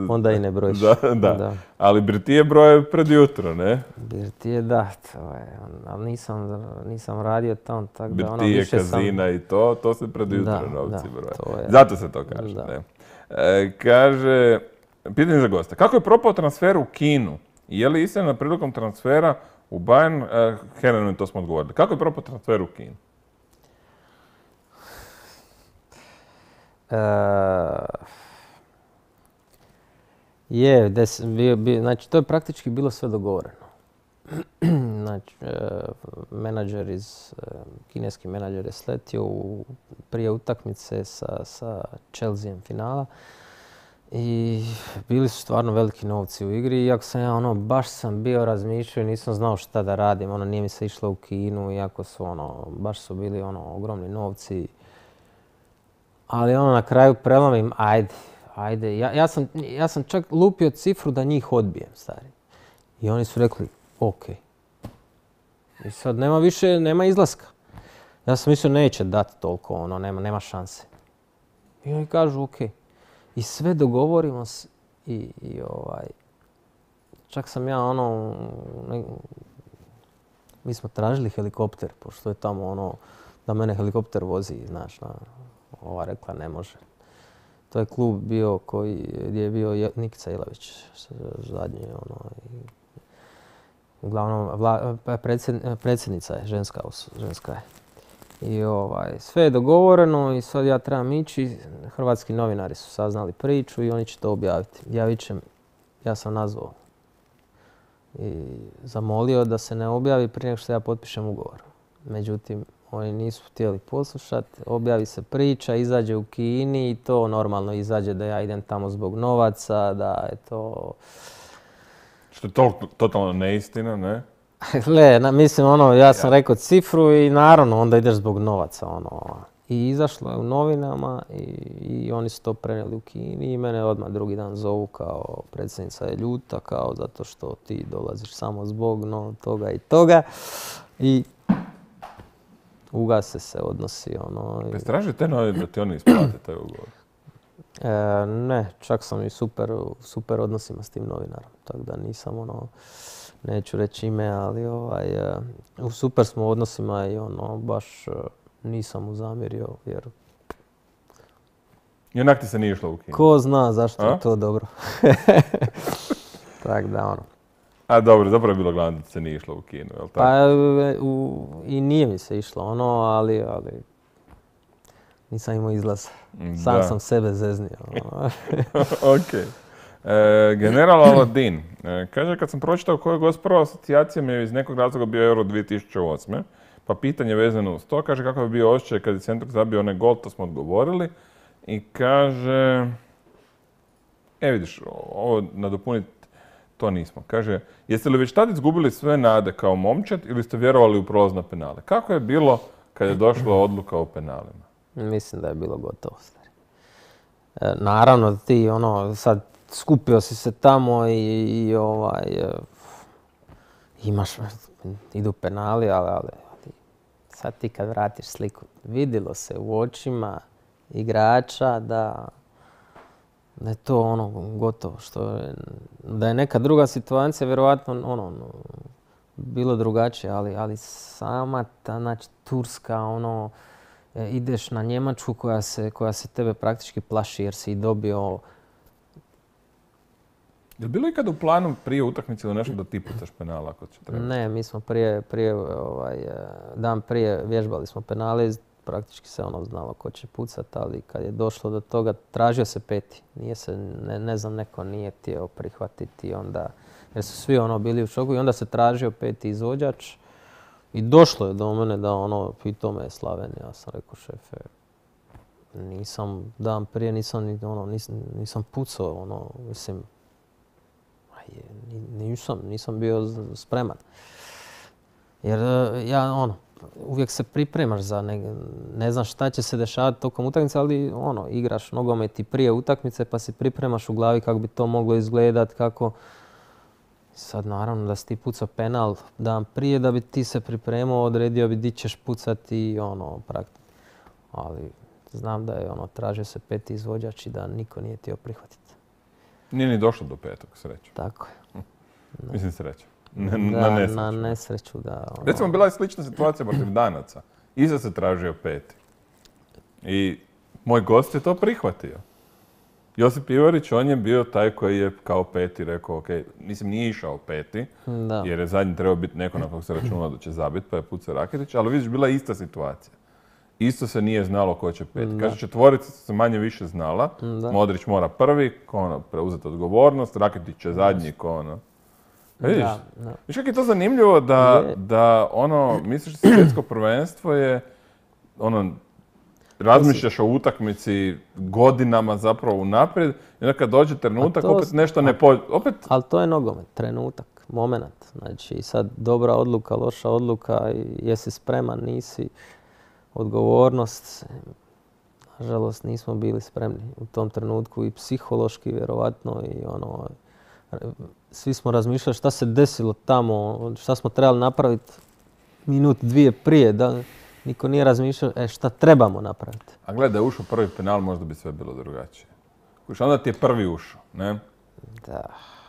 onda i ne brojiš. Da. Ali birtije broje pred jutro, ne? Birtije, da. Ali nisam radio tamo, tako da birtije, kazina i to se pred jutro novci broje. Zato se to kaže, ne? Kaže, pitanje za gosta. Kako je propao transfer u Kinu? Je li istina prilikom transfera u Bayern, Herenu, to smo odgovorili. Kako je propao transfer u Kinu? Znači, to je praktički bilo sve dogovoreno. Znači, kineski menadžer je sletio prije utakmice sa Chelseaem finala i bili su stvarno veliki novci u igri. Iako sam baš sam bio razmišljao i nisam znao šta da radim. Nije mi se išlo u Kinu, iako su baš su bili ogromni novci. Ali na kraju prelomim, ajde. Ja sam čak lupio cifru da njih odbijem, stari. I oni su rekli, ok. I sad nema izlaska. Ja sam mislio neće dati toliko, nema šanse. I oni kažu, ok. I sve dogovorimo se i čak sam ja mi smo tražili helikopter, pošto je tamo da mene helikopter vozi, znaš, ova rekla ne može. To je klub bio gdje je bio Nikica Ilavić zadnji. Uglavnom, predsjednica je, ženska je. I sve je dogovoreno i sad ja trebam ići. Hrvatski novinari su saznali priču i oni će to objaviti. Ja sam nazvao i zamolio da se ne objavi prije nego što ja potpišem ugovor. Međutim, oni nisu htjeli poslušati, objavi se priča, izađe u Kini i to normalno izađe da ja idem tamo zbog novaca, da je to... Što je totalno neistina, ne? Mislim, ja sam rekao cifru i naravno onda ideš zbog novaca, I izašlo je u novinama i oni su to prenijeli u Kini i mene odmah drugi dan zovu kao predsjednica je ljuta, kao zato što ti dolaziš samo zbog toga i toga. I ugase se odnosi, Straži te novine da ti oni isplate taj ugovor? Ne, čak sam i super odnosima s tim novinarom, tako da nisam neću reći ime, ali u super smo odnosima i baš nisam mu zamjerio, jer... I onak ti se nije išlo u Kinu? Ko zna zašto je to dobro. Tako da A dobro, zapravo je bilo glavno da se nije išlo u Kinu, jel' tako? Pa i nije mi se išlo ali nisam imao izlaz. Sam sam sebe zeznio. Ok. General Aladin. Kaže, kad sam pročitao koja je gost prva asocijacija mi je iz nekog razloga bio Euro 2008. Pa pitanje vezano uz to, kaže kako bi bio osjećaj kad je Centruk zabio onaj gol, to smo odgovorili. I kaže, vidiš, ovo nadopuniti to nismo. Kaže, jeste li već tad izgubili sve nade kao momčad ili ste vjerovali u prolaz na penale? Kako je bilo kad je došla odluka o penalima? Mislim da je bilo gotovo, stari. Naravno, ti sad skupio si se tamo i imaš, idu penali, ali sad ti kad vratiš sliku, vidjelo se u očima igrača da je to gotovo. Da je neka druga situacija, vjerojatno bilo drugačije, ali sama ta, znači, Turska, ideš na Njemačku koja se tebe praktički plaši jer si dobio. Je li bilo ikada u planu prije utakmice ili nešto da ti pucaš penala ako će trebati? Ne, mi smo dan prije vježbali smo penale, praktički se znalo ko će pucati, ali kad je došlo do toga tražio se peti. Nije se, ne znam, neko nije htio prihvatiti onda, jer su svi bili u šoku i onda se tražio peti izvođač i došlo je do mene da pitao me je Slaven. Ja sam rekao, šefe, dan prije nisam pucao, mislim, nisam bio spreman. Jer ja uvijek se pripremaš za ne znaš šta će se dešavati tokom utakmice, ali igraš nogomet i prije utakmice pa si pripremaš u glavi kako bi to moglo izgledati, kako. Sad naravno da si ti pucao penal dan prije da bi ti se pripremao, odredio bi di ćeš pucati i praktično. Ali znam da je tražio se peti izvođač i da niko nije htio prihvatiti. Nije ni došlo do petog, sreću. Tako je. Mislim sreću. Na nesreću, da. Recimo, bila je slična situacija protiv Danaca. Iza se tražio peti. I moj gost je to prihvatio. Josip Ivarić, on je bio taj koji je kao peti rekao, ok, nije išao peti, jer je zadnji trebao biti neko na kog se računalo da će zabiti, pa je pucao Raketić, ali vidiš, bila je ista situacija. Isto se nije znalo ko će peti. Kaže, četvorica se manje više znala. Modrić mora prvi, preuzeti odgovornost, Raketić će zadnji, Vidiš, viš kako je to zanimljivo da misliš da svjetsko prvenstvo je, razmišljaš o utakmici godinama zapravo unaprijed i onda kad dođe trenutak opet nešto ne pođe. Ali to je nogomet, trenutak, moment. Znači sad dobra odluka, loša odluka, jesi spreman, nisi, odgovornost. Nažalost nismo bili spremni u tom trenutku i psihološki vjerovatno i svi smo razmišljali šta se desilo tamo, šta smo trebali napraviti minut, dvije prije, da niko nije razmišljao šta trebamo napraviti. A gledaj, da je ušao prvi penal, možda bi sve bilo drugačije. Onda ti je prvi ušao, ne? Da.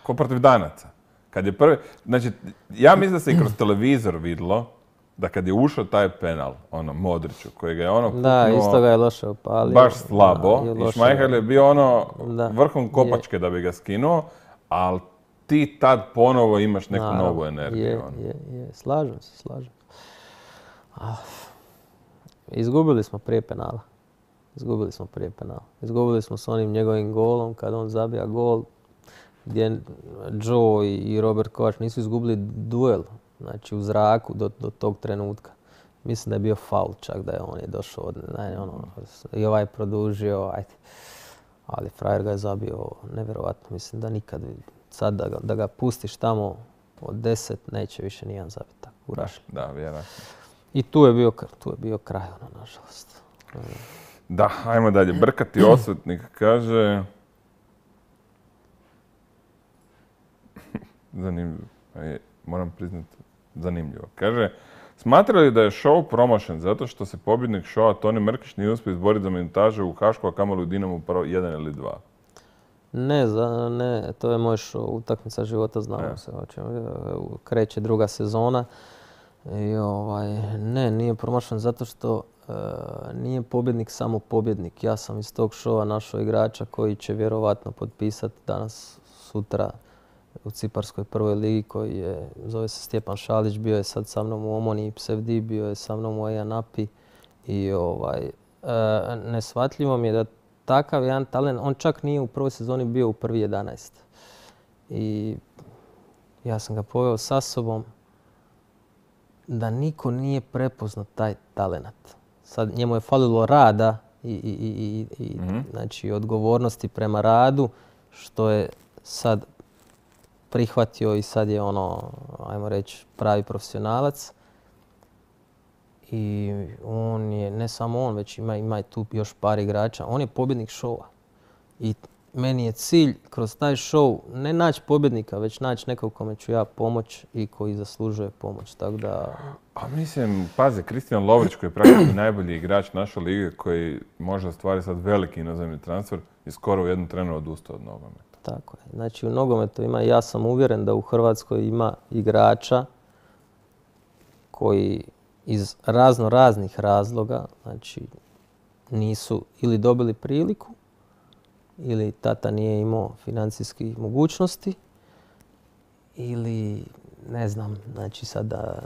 Ko protiv Danaca. Kad je prvi, znači, ja mislim da se i kroz televizor vidjelo da kad je ušao taj penal, Modriću, koji ga je kupnuo... Da, isto ga je loše opalio. Baš slabo. I Šmajhel je bio vrhom kopačke da bi ga skinuo, ali ti tad ponovo imaš neku novu energiju. Slažem se. Izgubili smo prije penala. Izgubili smo s onim njegovim golom, kad on zabija gol, gdje Joe i Robert Kovač nisu izgubili duel, znači u zraku do tog trenutka. Mislim da je bio faul čak, da je on došao, i ovaj produžio, ajde. Ali frajer ga je zabio nevjerovatno, mislim da nikad, sad da ga pustiš tamo od 10, neće više nijedan zabiti tako u Rašlji. Da, vjerojatno. I tu je bio kraj, nažalost. Da, ajmo dalje. Brkati Osvetnik kaže... Zanimljivo. Moram priznati, zanimljivo. Kaže, smatra li da je show promašen zato što se pobjednik showa Toni Mrkić nije uspio izboriti za minutažu u Hašku, a kamoli u Dinamu prvo 1 ili 2? Ne, to je moj show, utakmica života, znamo se. Kreće druga sezona. I nije promašen zato što nije pobjednik samo pobjednik. Ja sam iz tog showa našao igrača koji će vjerovatno potpisati danas, sutra u Ciparskoj prvoj ligi, koji je, zove se Stjepan Šalić, bio je sad sa mnom u Omoni i Psevdi, bio je sa mnom u Ejanapi i neshvatljivo mi je da takav jedan talent, on čak nije u prvoj sezoni bio u prvi 11. I ja sam ga poveo sa sobom da niko nije prepoznao taj talent. Sad njemu je falilo rada i znači, odgovornosti prema radu, što je sad prihvatio i sad je ajmo reći, pravi profesionalac. I on je, ne samo on, već ima i tu još par igrača. On je pobjednik showa. I meni je cilj kroz taj show ne naći pobjednika, već naći nekog kome ću ja pomoć i koji zaslužuje pomoć. Tako da... A mislim, pazi, Kristijan Lovrić koji je praktički najbolji igrač naše lige, koji može ostvariti sad veliki inozemni transfer i skoro u jednom trenu odustao od nogometa. Tako je. Znači u nogometu ima, ja sam uvjeren da u Hrvatskoj ima igrača koji iz raznih razloga, znači nisu ili dobili priliku ili tata nije imao financijskih mogućnosti ili ne znam, znači sad da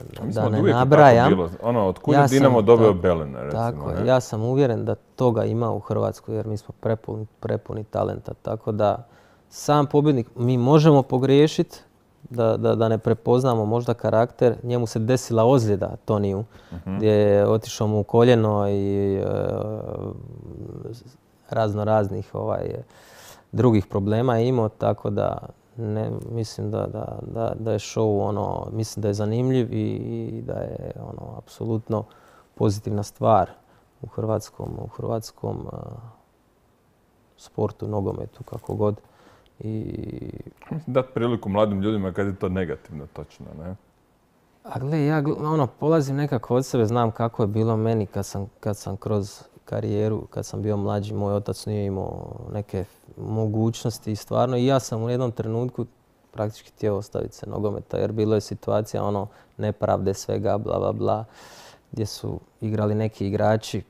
ne nabrajam. Otkud je Dinamo dobio Belena, recimo. Tako je, ja sam uvjeren da toga ima u Hrvatskoj jer mi smo prepuni talenta. Tako da sam pobjednik, mi možemo pogriješiti, da ne prepoznamo možda karakter. Njemu se desila ozljeda Toniju, gdje je otišao mu u koljeno i raznih drugih problema je imao, tako da ne, mislim da je show mislim da je zanimljiv i da je apsolutno pozitivna stvar u hrvatskom sportu, nogometu, kako god. Dati priliku mladim ljudima kad je to negativno, točno, ne? A gle, ja polazim nekako od sebe, znam kako je bilo meni kad sam kroz karijeru, kad sam bio mlađi, moj otac nije imao neke mogućnosti i stvarno i ja sam u jednom trenutku praktički htio ostaviti se nogometa jer bilo je situacija nepravde svega, bla bla bla, gdje su igrali neki igrači.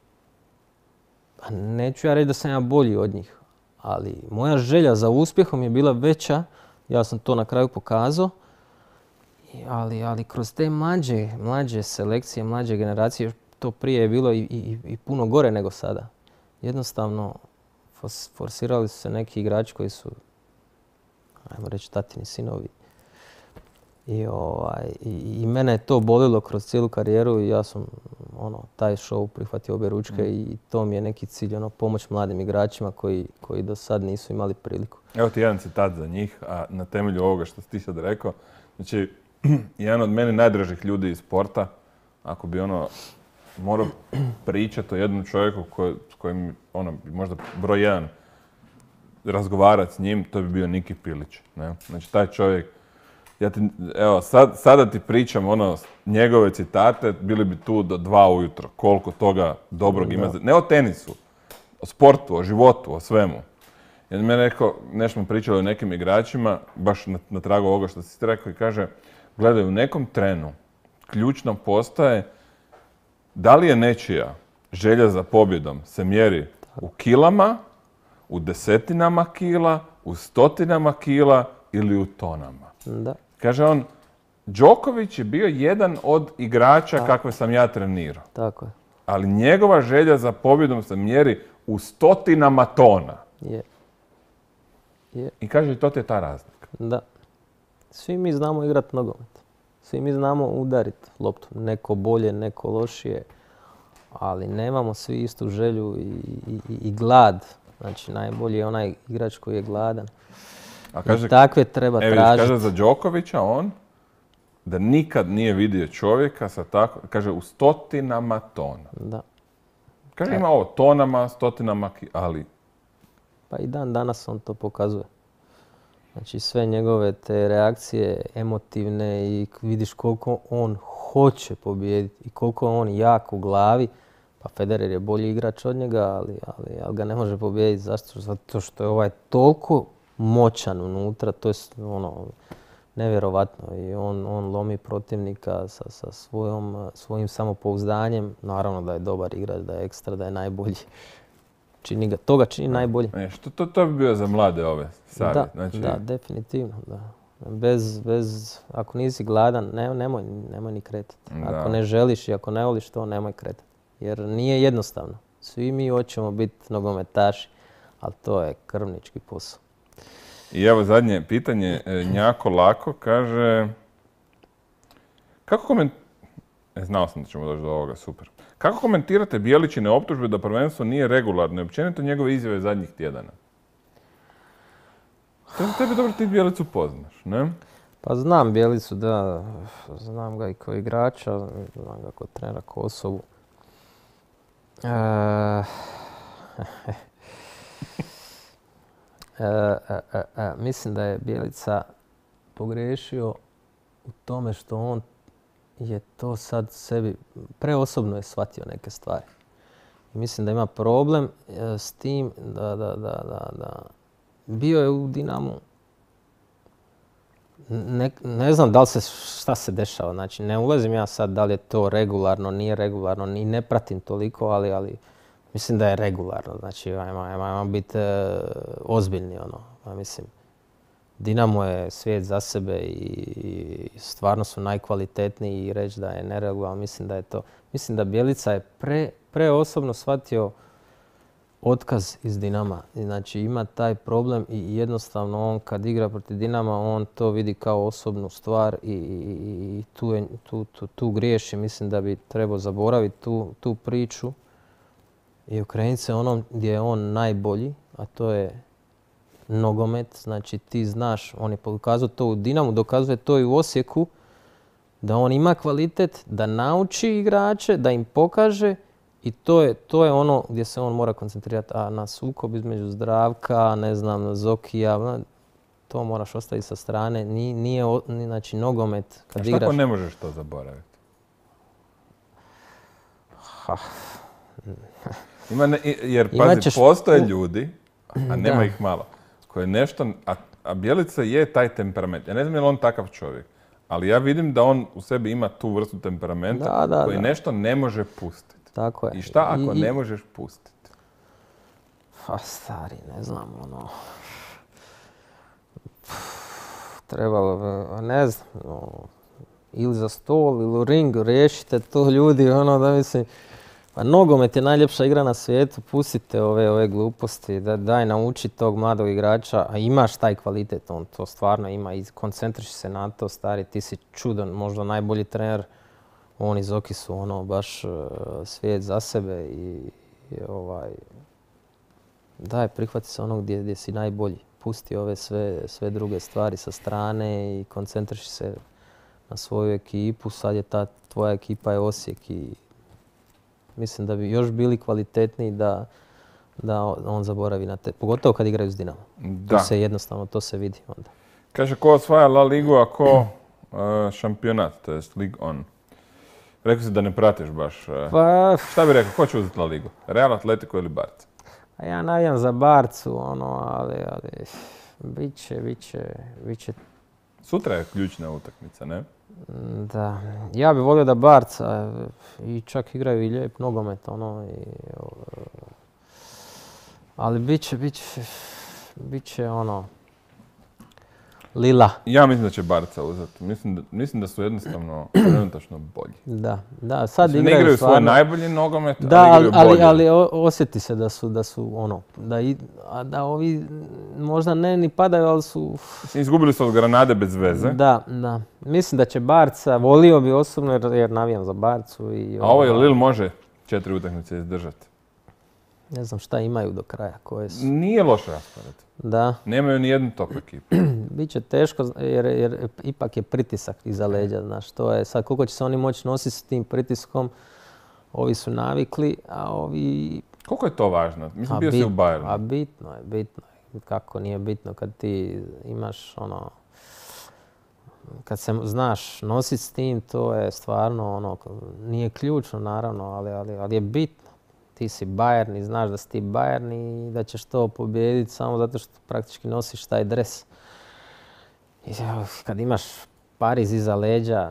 A neću ja reći da sam ja bolji od njih, ali moja želja za uspjehom je bila veća, ja sam to na kraju pokazao, ali kroz te mlađe selekcije, mlađe generacije, to prije je bilo i puno gore nego sada. Jednostavno, forsirali su se neki igrači koji su, ajmo reći, tatini sinovi. I mene je to bolilo kroz cijelu karijeru i ja sam taj show prihvatio obje ručke i to mi je neki cilj, pomoć mladim igračima koji do sad nisu imali priliku. Evo ti jedan citat za njih, a na temelju ovoga što si ti sad rekao. Znači, jedan od meni najdražih ljudi iz sporta, ako bi morao pričati o jednom čovjeku s kojim možda broj jedan razgovarati s njim, to bi bio Niki Pilić. Ne? Znači, taj čovjek, sada ti pričam njegove citate, bili bi tu do 2 ujutro. Koliko toga dobrog ima. Ne o tenisu, o sportu, o životu, o svemu. Jer mi je rekao, nešto smo pričali o nekim igračima, baš na tragu ovoga što si ti rekao i kaže, gledaj, u nekom trenu ključno postaje da li je nečija želja za pobjedom se mjeri u kilama, u desetinama kila, u stotinama kila ili u tonama. Da. Kaže on, Đoković je bio jedan od igrača kakve sam ja trenirao. Tako je. Ali njegova želja za pobjedom se mjeri u stotinama tona. Je. I kaže, to ti je ta razlika. Da. Svi mi znamo igrati nogomet. Svi mi znamo udariti loptu. Neko bolje, neko lošije. Ali nemamo svi istu želju i glad. Znači, najbolji je onaj igrač koji je gladan. A kaže, takve treba tražiti. Kaže za Đokovića da nikad nije vidio čovjeka sa tako, kaže, u stotinama tona. Da. Kaže, ima tonama, stotinama, ali... Pa i dan danas on to pokazuje. Znači, sve njegove te reakcije emotivne i vidiš koliko on hoće pobijediti i koliko je on jak u glavi. Pa Federer je bolji igrač od njega, ali ga ne može pobijediti. Zašto? Zato što je toliko moćan unutra, to je nevjerovatno. I on lomi protivnika sa svojim samopouzdanjem. Naravno da je dobar igrač, da je ekstra, da je najbolji. To ga čini najbolji. To bi bio za mlade ove savjet. Da, definitivno. Da. Ako nisi gladan, nemoj ni kretati. Ako ne želiš i ako ne voliš to, nemoj kretati. Jer nije jednostavno. Svi mi hoćemo biti nogometaši, ali to je krvnički posao. I evo zadnje pitanje, Njako Lako kaže... Znao sam da ćemo doći do ovoga, super. Kako komentirate Bjelićine optužbe da prvenstvo nije regularno i općenito njegove izjave zadnjih tjedana? To je za tebe dobro, ti Bjelicu poznaš, ne? Pa znam Bjelicu, da. Znam ga i kao igrača, znam ga kao trenera, kao osobu. Mislim da je Bjelica pogriješio u tome što on je to sad sebi preosobno je shvatio neke stvari. I mislim da ima problem s tim da bio je u Dinamu. Ne znam da li šta se dešava. Znači, ne ulazim ja sad da li je to regularno, nije regularno, ni ne pratim toliko, ali mislim da je regularno. Znači, ajmo biti ozbiljni. Mislim, Dinamo je svijet za sebe i stvarno su najkvalitetniji i reći da je neregularno, mislim da je to. Mislim da Bjelica je preosobno shvatio otkaz iz Dinama. Znači ima taj problem i jednostavno on kad igra protiv Dinama on to vidi kao osobnu stvar i tu griješi. Mislim da bi trebao zaboraviti tu priču i okrenuti se onom gdje je on najbolji, a to je nogomet. Znači ti znaš, on je pokazao to u Dinamu, dokazuje to i u Osijeku, da on ima kvalitet, da nauči igrače, da im pokaže i to je ono gdje se on mora koncentrirati. A na sukob između Zdravka, ne znam, Zokija, to moraš ostaviti sa strane. Nije znači, nogomet kad igraš... A šta ne možeš to zaboraviti? Jer pazi, postoje ljudi, a nema ih malo, koje nešto, a Bjelica je taj temperament. Ja ne znam je li on takav čovjek, ali ja vidim da on u sebi ima tu vrstu temperamenta koji nešto ne može pustiti. Tako je. I šta ako ne možeš pustiti? Pa stari, ne znam, trebalo, ne znam, ili za stol, ili u ringu, riješite to ljudi, da mislim, pa nogomet je najljepša igra na svijetu, pustite ove gluposti, daj nauči tog mladog igrača, a imaš taj kvalitet, on to stvarno ima i koncentriši se na to, stari, ti si čudan, možda najbolji trener, on i Zoki su baš svijet za sebe i daj, prihvati se onog gdje si najbolji, pusti ove sve druge stvari sa strane i koncentriši se na svoju ekipu, sad je ta tvoja ekipa je Osijek i mislim da bi još bili kvalitetniji da on zaboravi na te, pogotovo kad igraju s Dinamo. Da. To se vidi onda. Kaže, ko osvaja La Ligu, a ko šampionat, to je Ligue 1. Rekao si da ne pratiš baš. Pa... Šta bi rekao, ko će uzeti La Ligu? Real, Atletico ili Barca? Ja navijam za Barcu, ali bit će... Sutra je ključna utakmica, ne? Da, ja bih volio da Barca i čak igraju i lijep nogomet, ali bit će lila. Ja mislim da će Barca uzeti. Mislim da su jednostavno trenutačno bolji. Da, sad ne igraju svoj najbolji nogomet, da, ali igraju bolje. Ali osjeti se da ovi možda ne ni padaju, ali su... Izgubili su od Granade bez veze. Da. Mislim da će Barca, volio bi osobno jer navijam za Barcu. A ovo je Lille može 4 utakmice izdržati. Ne znam šta imaju do kraja, koje su. Nije loš raspored. Da. Nemaju ni jednu top ekipu. Biće teško jer ipak je pritisak iza leđa, znaš, to je sad koliko će se oni moći nositi s tim pritiskom, ovi su navikli, a ovi... Koliko je to važno? Mislim, bio si u Bayernu. Bitno je. Kako nije bitno kad ti imaš kad se znaš nositi s tim, to je stvarno nije ključno naravno, ali je bitno. Ti si Bayern i znaš da si ti Bayern i da ćeš to pobijediti samo zato što praktički nosiš taj dres. I kad imaš Pariz iza leđa,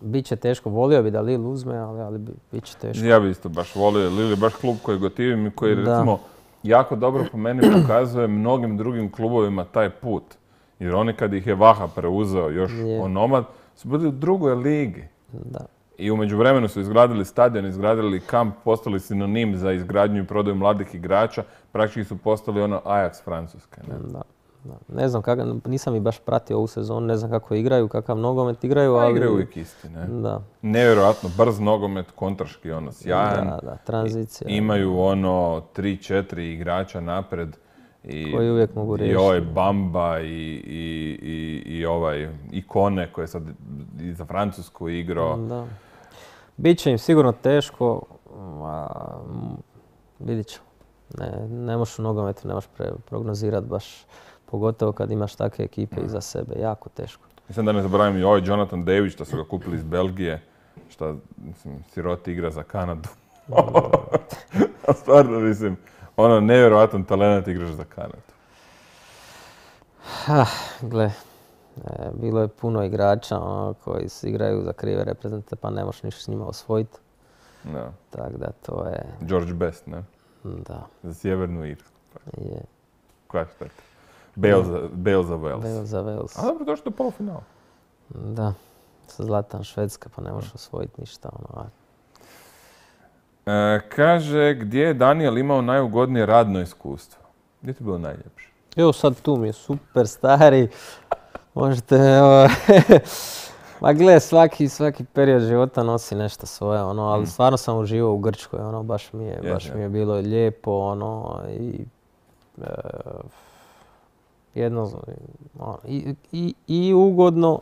bit će teško. Volio bi da Lille uzme, ali bit će teško. Ja bi isto baš volio. Lille je baš klub koji gotivim i koji recimo jako dobro po meni pokazuje mnogim drugim klubovima taj put. Jer oni kad ih je Vaha preuzeo još onomad, su bili u drugoj ligi. Da. I u međuvremenu su izgradili stadion, izgradili kamp, postali sinonim za izgradnju i prodaju mladih igrača. Praktički su postali ono Ajax Francuske. Ne? Da. Ne znam nisam i baš pratio ovu sezonu, ne znam kako igraju, kakav nogomet igraju, ali... Igraju uvijek isti, ne? Da. Nevjerojatno brz nogomet, kontraški sjajan. Da, tranzicija. Imaju 3-4 igrača napred. Koji uvijek mogu riješiti. I ovaj Bamba i Ikone koji je sad i za Francusku igrao. Da. Biće im sigurno teško, vidit ćemo. Ne možeš u nogometu, ne možeš prognozirati baš, pogotovo kad imaš takve ekipe iza sebe, jako teško. Mislim da ne zaboravim i ovaj Jonathan David što su ga kupili iz Belgije, što siroti igra za Kanadu. Stvarno mislim, nevjerojatan talent igraš za Kanadu. Gle, bilo je puno igrača koji igraju za krive reprezentante pa ne možeš ništa s njima osvojiti. Da. Tako da to je... George Best, ne? Da. Za Sjevernu Irsku. Je. Koja šteta? Bale za Wales. Bale za Wales. A dobro, došli do polufinala. Da. Sa Zlatan Švedska pa ne možeš osvojiti ništa. Kaže, gdje je Daniel imao najugodnije radno iskustvo? Gdje ti je bilo najljepše? Evo sad tu mi je super stari. Možete... Ma gle, svaki period života nosi nešto svoje, ali stvarno sam uživao u Grčkoj, baš mi je bilo lijepo, i ugodno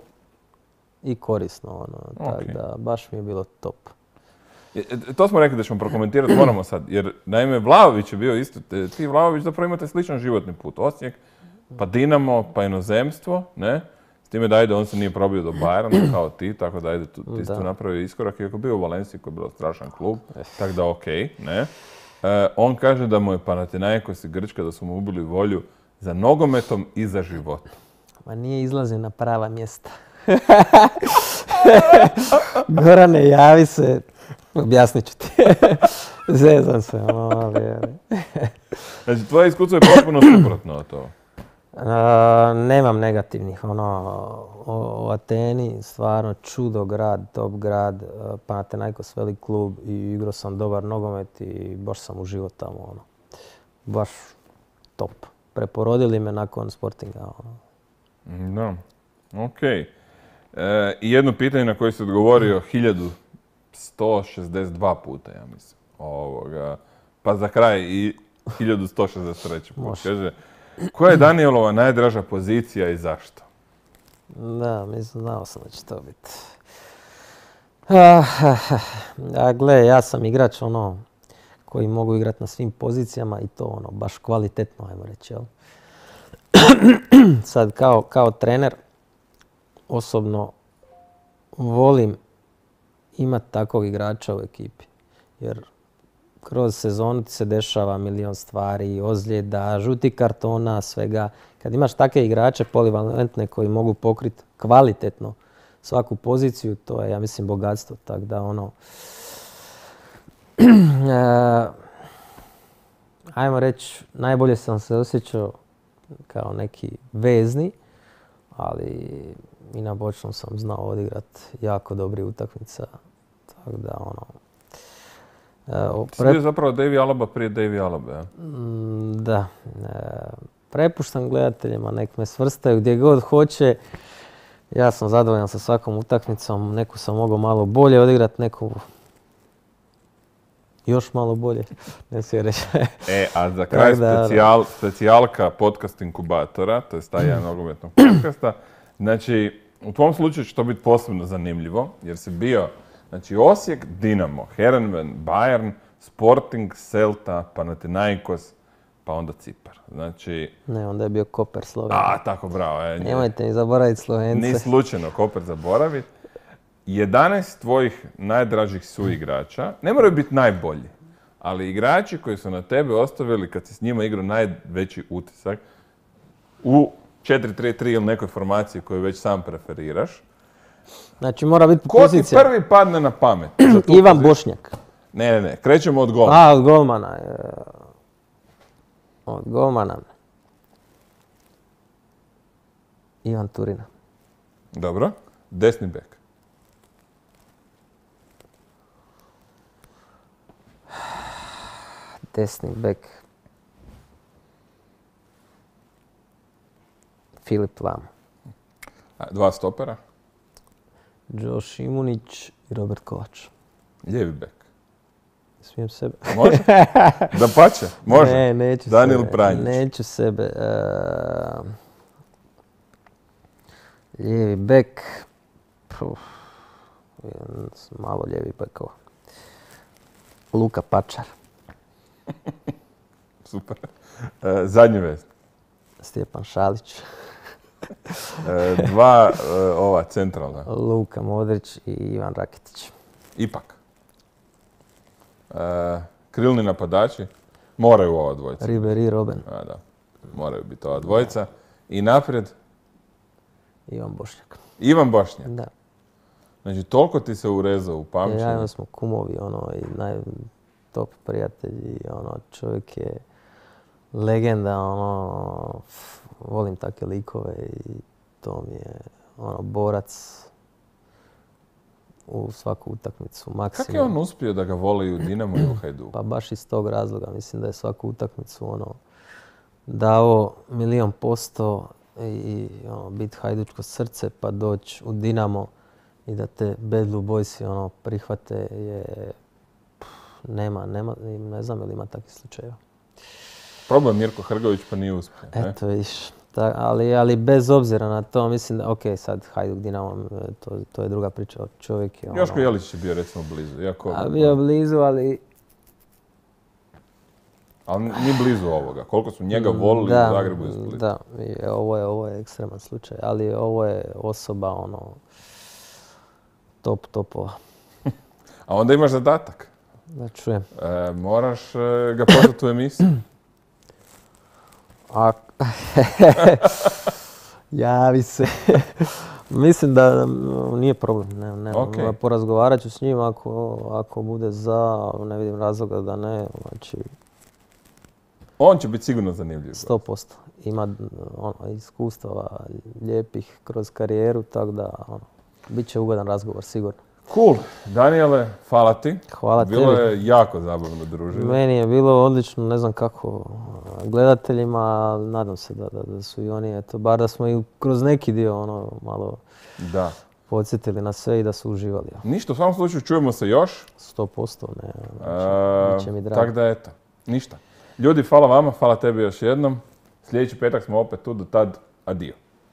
i korisno, tako da baš mi je bilo top. To smo rekli da ćemo prokomentirati, moramo sad, jer naime Vlahović je bio isto, ti Vlahović zapravo imate sličan životni put, Osijek, pa Dinamo, pa inozemstvo, ne? S time da on se nije probio do Bayerna kao ti, tako da ti si tu napravio iskorak, iako bio u Valenciji koji je bilo strašan klub, tako da okej, ne? On kaže da mu je Panathinaikos i Grčka da su mu ubili volju za nogometom i za životom. Ma nije izlazio na prava mjesta. Gorane, javi se. Objasnit ću ti. Zezam se. Znači, tvoje iskustvo je potpuno suprotno od toga. Nemam negativnih. O Ateni, stvarno čudo grad, top grad. Panathinaikos velik klub i igrao sam dobar nogomet i baš sam uživao tamo. Baš top. Preporodili me nakon Sportinga. Da, okej. I jedno pitanje na koje si odgovorio 1162 puta, ja mislim. Pa za kraj i 1163 put. Kaže, koja je Danielova najdraža pozicija i zašto? Da, mislim, znao sam da će to biti. Gle, ja sam igrač koji mogu igrati na svim pozicijama i to baš kvalitetno, ajmo reći, jel? Sad, kao trener, osobno volim imati takvog igrača u ekipi. Jer kroz sezonu ti se dešava milion stvari, ozljeda, žutih kartona, svega. Kad imaš takve igrače polivalentne koji mogu pokriti kvalitetno svaku poziciju, to je, ja mislim, bogatstvo. Tako da ajmo reći, najbolje sam se osjećao kao neki vezni, ali i na bočnom sam znao odigrati jako dobri utakmica. Tako da Ti bio zapravo Davy Alaba prije Davy Alabe, ja? Da. Prepuštam gledateljima, nek me svrstaju gdje god hoće. Ja sam zadovoljan sa svakom utakmicom. Neku sam mogao malo bolje odigrati, neku još malo bolje. Ne svi reći. A za kraj specijalka podcast inkubatora, to je taj jedan nogometnog podcasta. Znači, u tvom slučaju će to biti posebno zanimljivo, jer si bio Osijek, Dinamo, Heerenveen, Bayern, Sporting, Celta, Panathinaikos, pa onda Cipar. Ne, onda je bio Koper Slovenija. Tako, bravo. Nemojte mi zaboraviti Slovence. Ni slučajno Koper zaboraviti. 11 tvojih najdražih suigrača, ne moraju biti najbolji, ali igrači koji su na tebe ostavili kad si s njima igrao najveći utisak u 4-3-3 ili nekoj formaciji koju već sam preferiraš. Znači mora biti pozicija. Ko ti prvi padne na pamet? Ivan Bošnjak. Ne, krećemo od golmana. Od golmana. Od golmana. Ivan Turina. Dobro. Desni bek. Desni bek. Filip Lam. Dva stopera. Josh Imunić i Robert Kovač. Lijevi bek. Smijem sebe. Može? Dapače, može. Ne, neću Danijel sebe. Pranjić. Neću sebe. Lijevi bek. Malo lijevi bekova. Luka Pačar. Super. Zadnji vez. Stjepan Šalić. Dva ova centralna. Luka Modrić i Ivan Rakitić. Ipak. Krilni napadači. Moraju ova dvojica. Ribery, Robben. Da. Moraju biti ova dvojica. I naprijed. Ivan Bošnjak. Ivan Bošnjak. Da. Znači, toliko ti se urezao u pamćenju. Ja smo kumovi, i top prijatelji, čovjek je legenda, volim takve likove i to mi je, borac u svaku utakmicu, maksimum. Kako je on uspio da ga voli u Dinamu i u Hajduku? Pa baš iz tog razloga, mislim da je svaku utakmicu, dao 1.000.000% i biti hajdučko srce pa doći u Dinamo i da te Bad Blue Boysi prihvate je... Nema, ne znam ili ima takvih slučajeva. Probao Mirko Hrgović pa nije uspio. Eto vidiš, ali bez obzira na to, mislim da, sad Hajduk Dinamo, to je druga priča. Čovjek je Joško Jelić je bio recimo blizu. Bio blizu, ali... Ali nije blizu ovoga. Koliko su njega volili u Zagrebu i Splitu. Da, ovo je ekstreman slučaj, ali ovo je osoba, top topova. A onda imaš zadatak. Da čujem. Moraš ga pozvati u emisiju. Javi se. Mislim da nije problem. Okay. Porazgovarat ću s njim ako bude za, ne vidim razloga da ne. Znači, on će biti sigurno zanimljiv. 100%. Ima iskustava lijepih kroz karijeru, tako da bit će ugodan razgovor sigurno. Cool. Danijele, hvala ti. Hvala tebi. Bilo je jako zabavno druženje. Meni je bilo odlično, ne znam kako gledateljima, nadam se da su i oni, bar da smo i kroz neki dio malo podsjetili na sve i da su uživali. Ništa, u svakom slučaju čujemo se još. 100%, ne. Znači, bit će mi drago. Tako da eto, ništa. Ljudi, hvala vama, hvala tebi još jednom. Sljedeći petak smo opet tu, do tad, adio.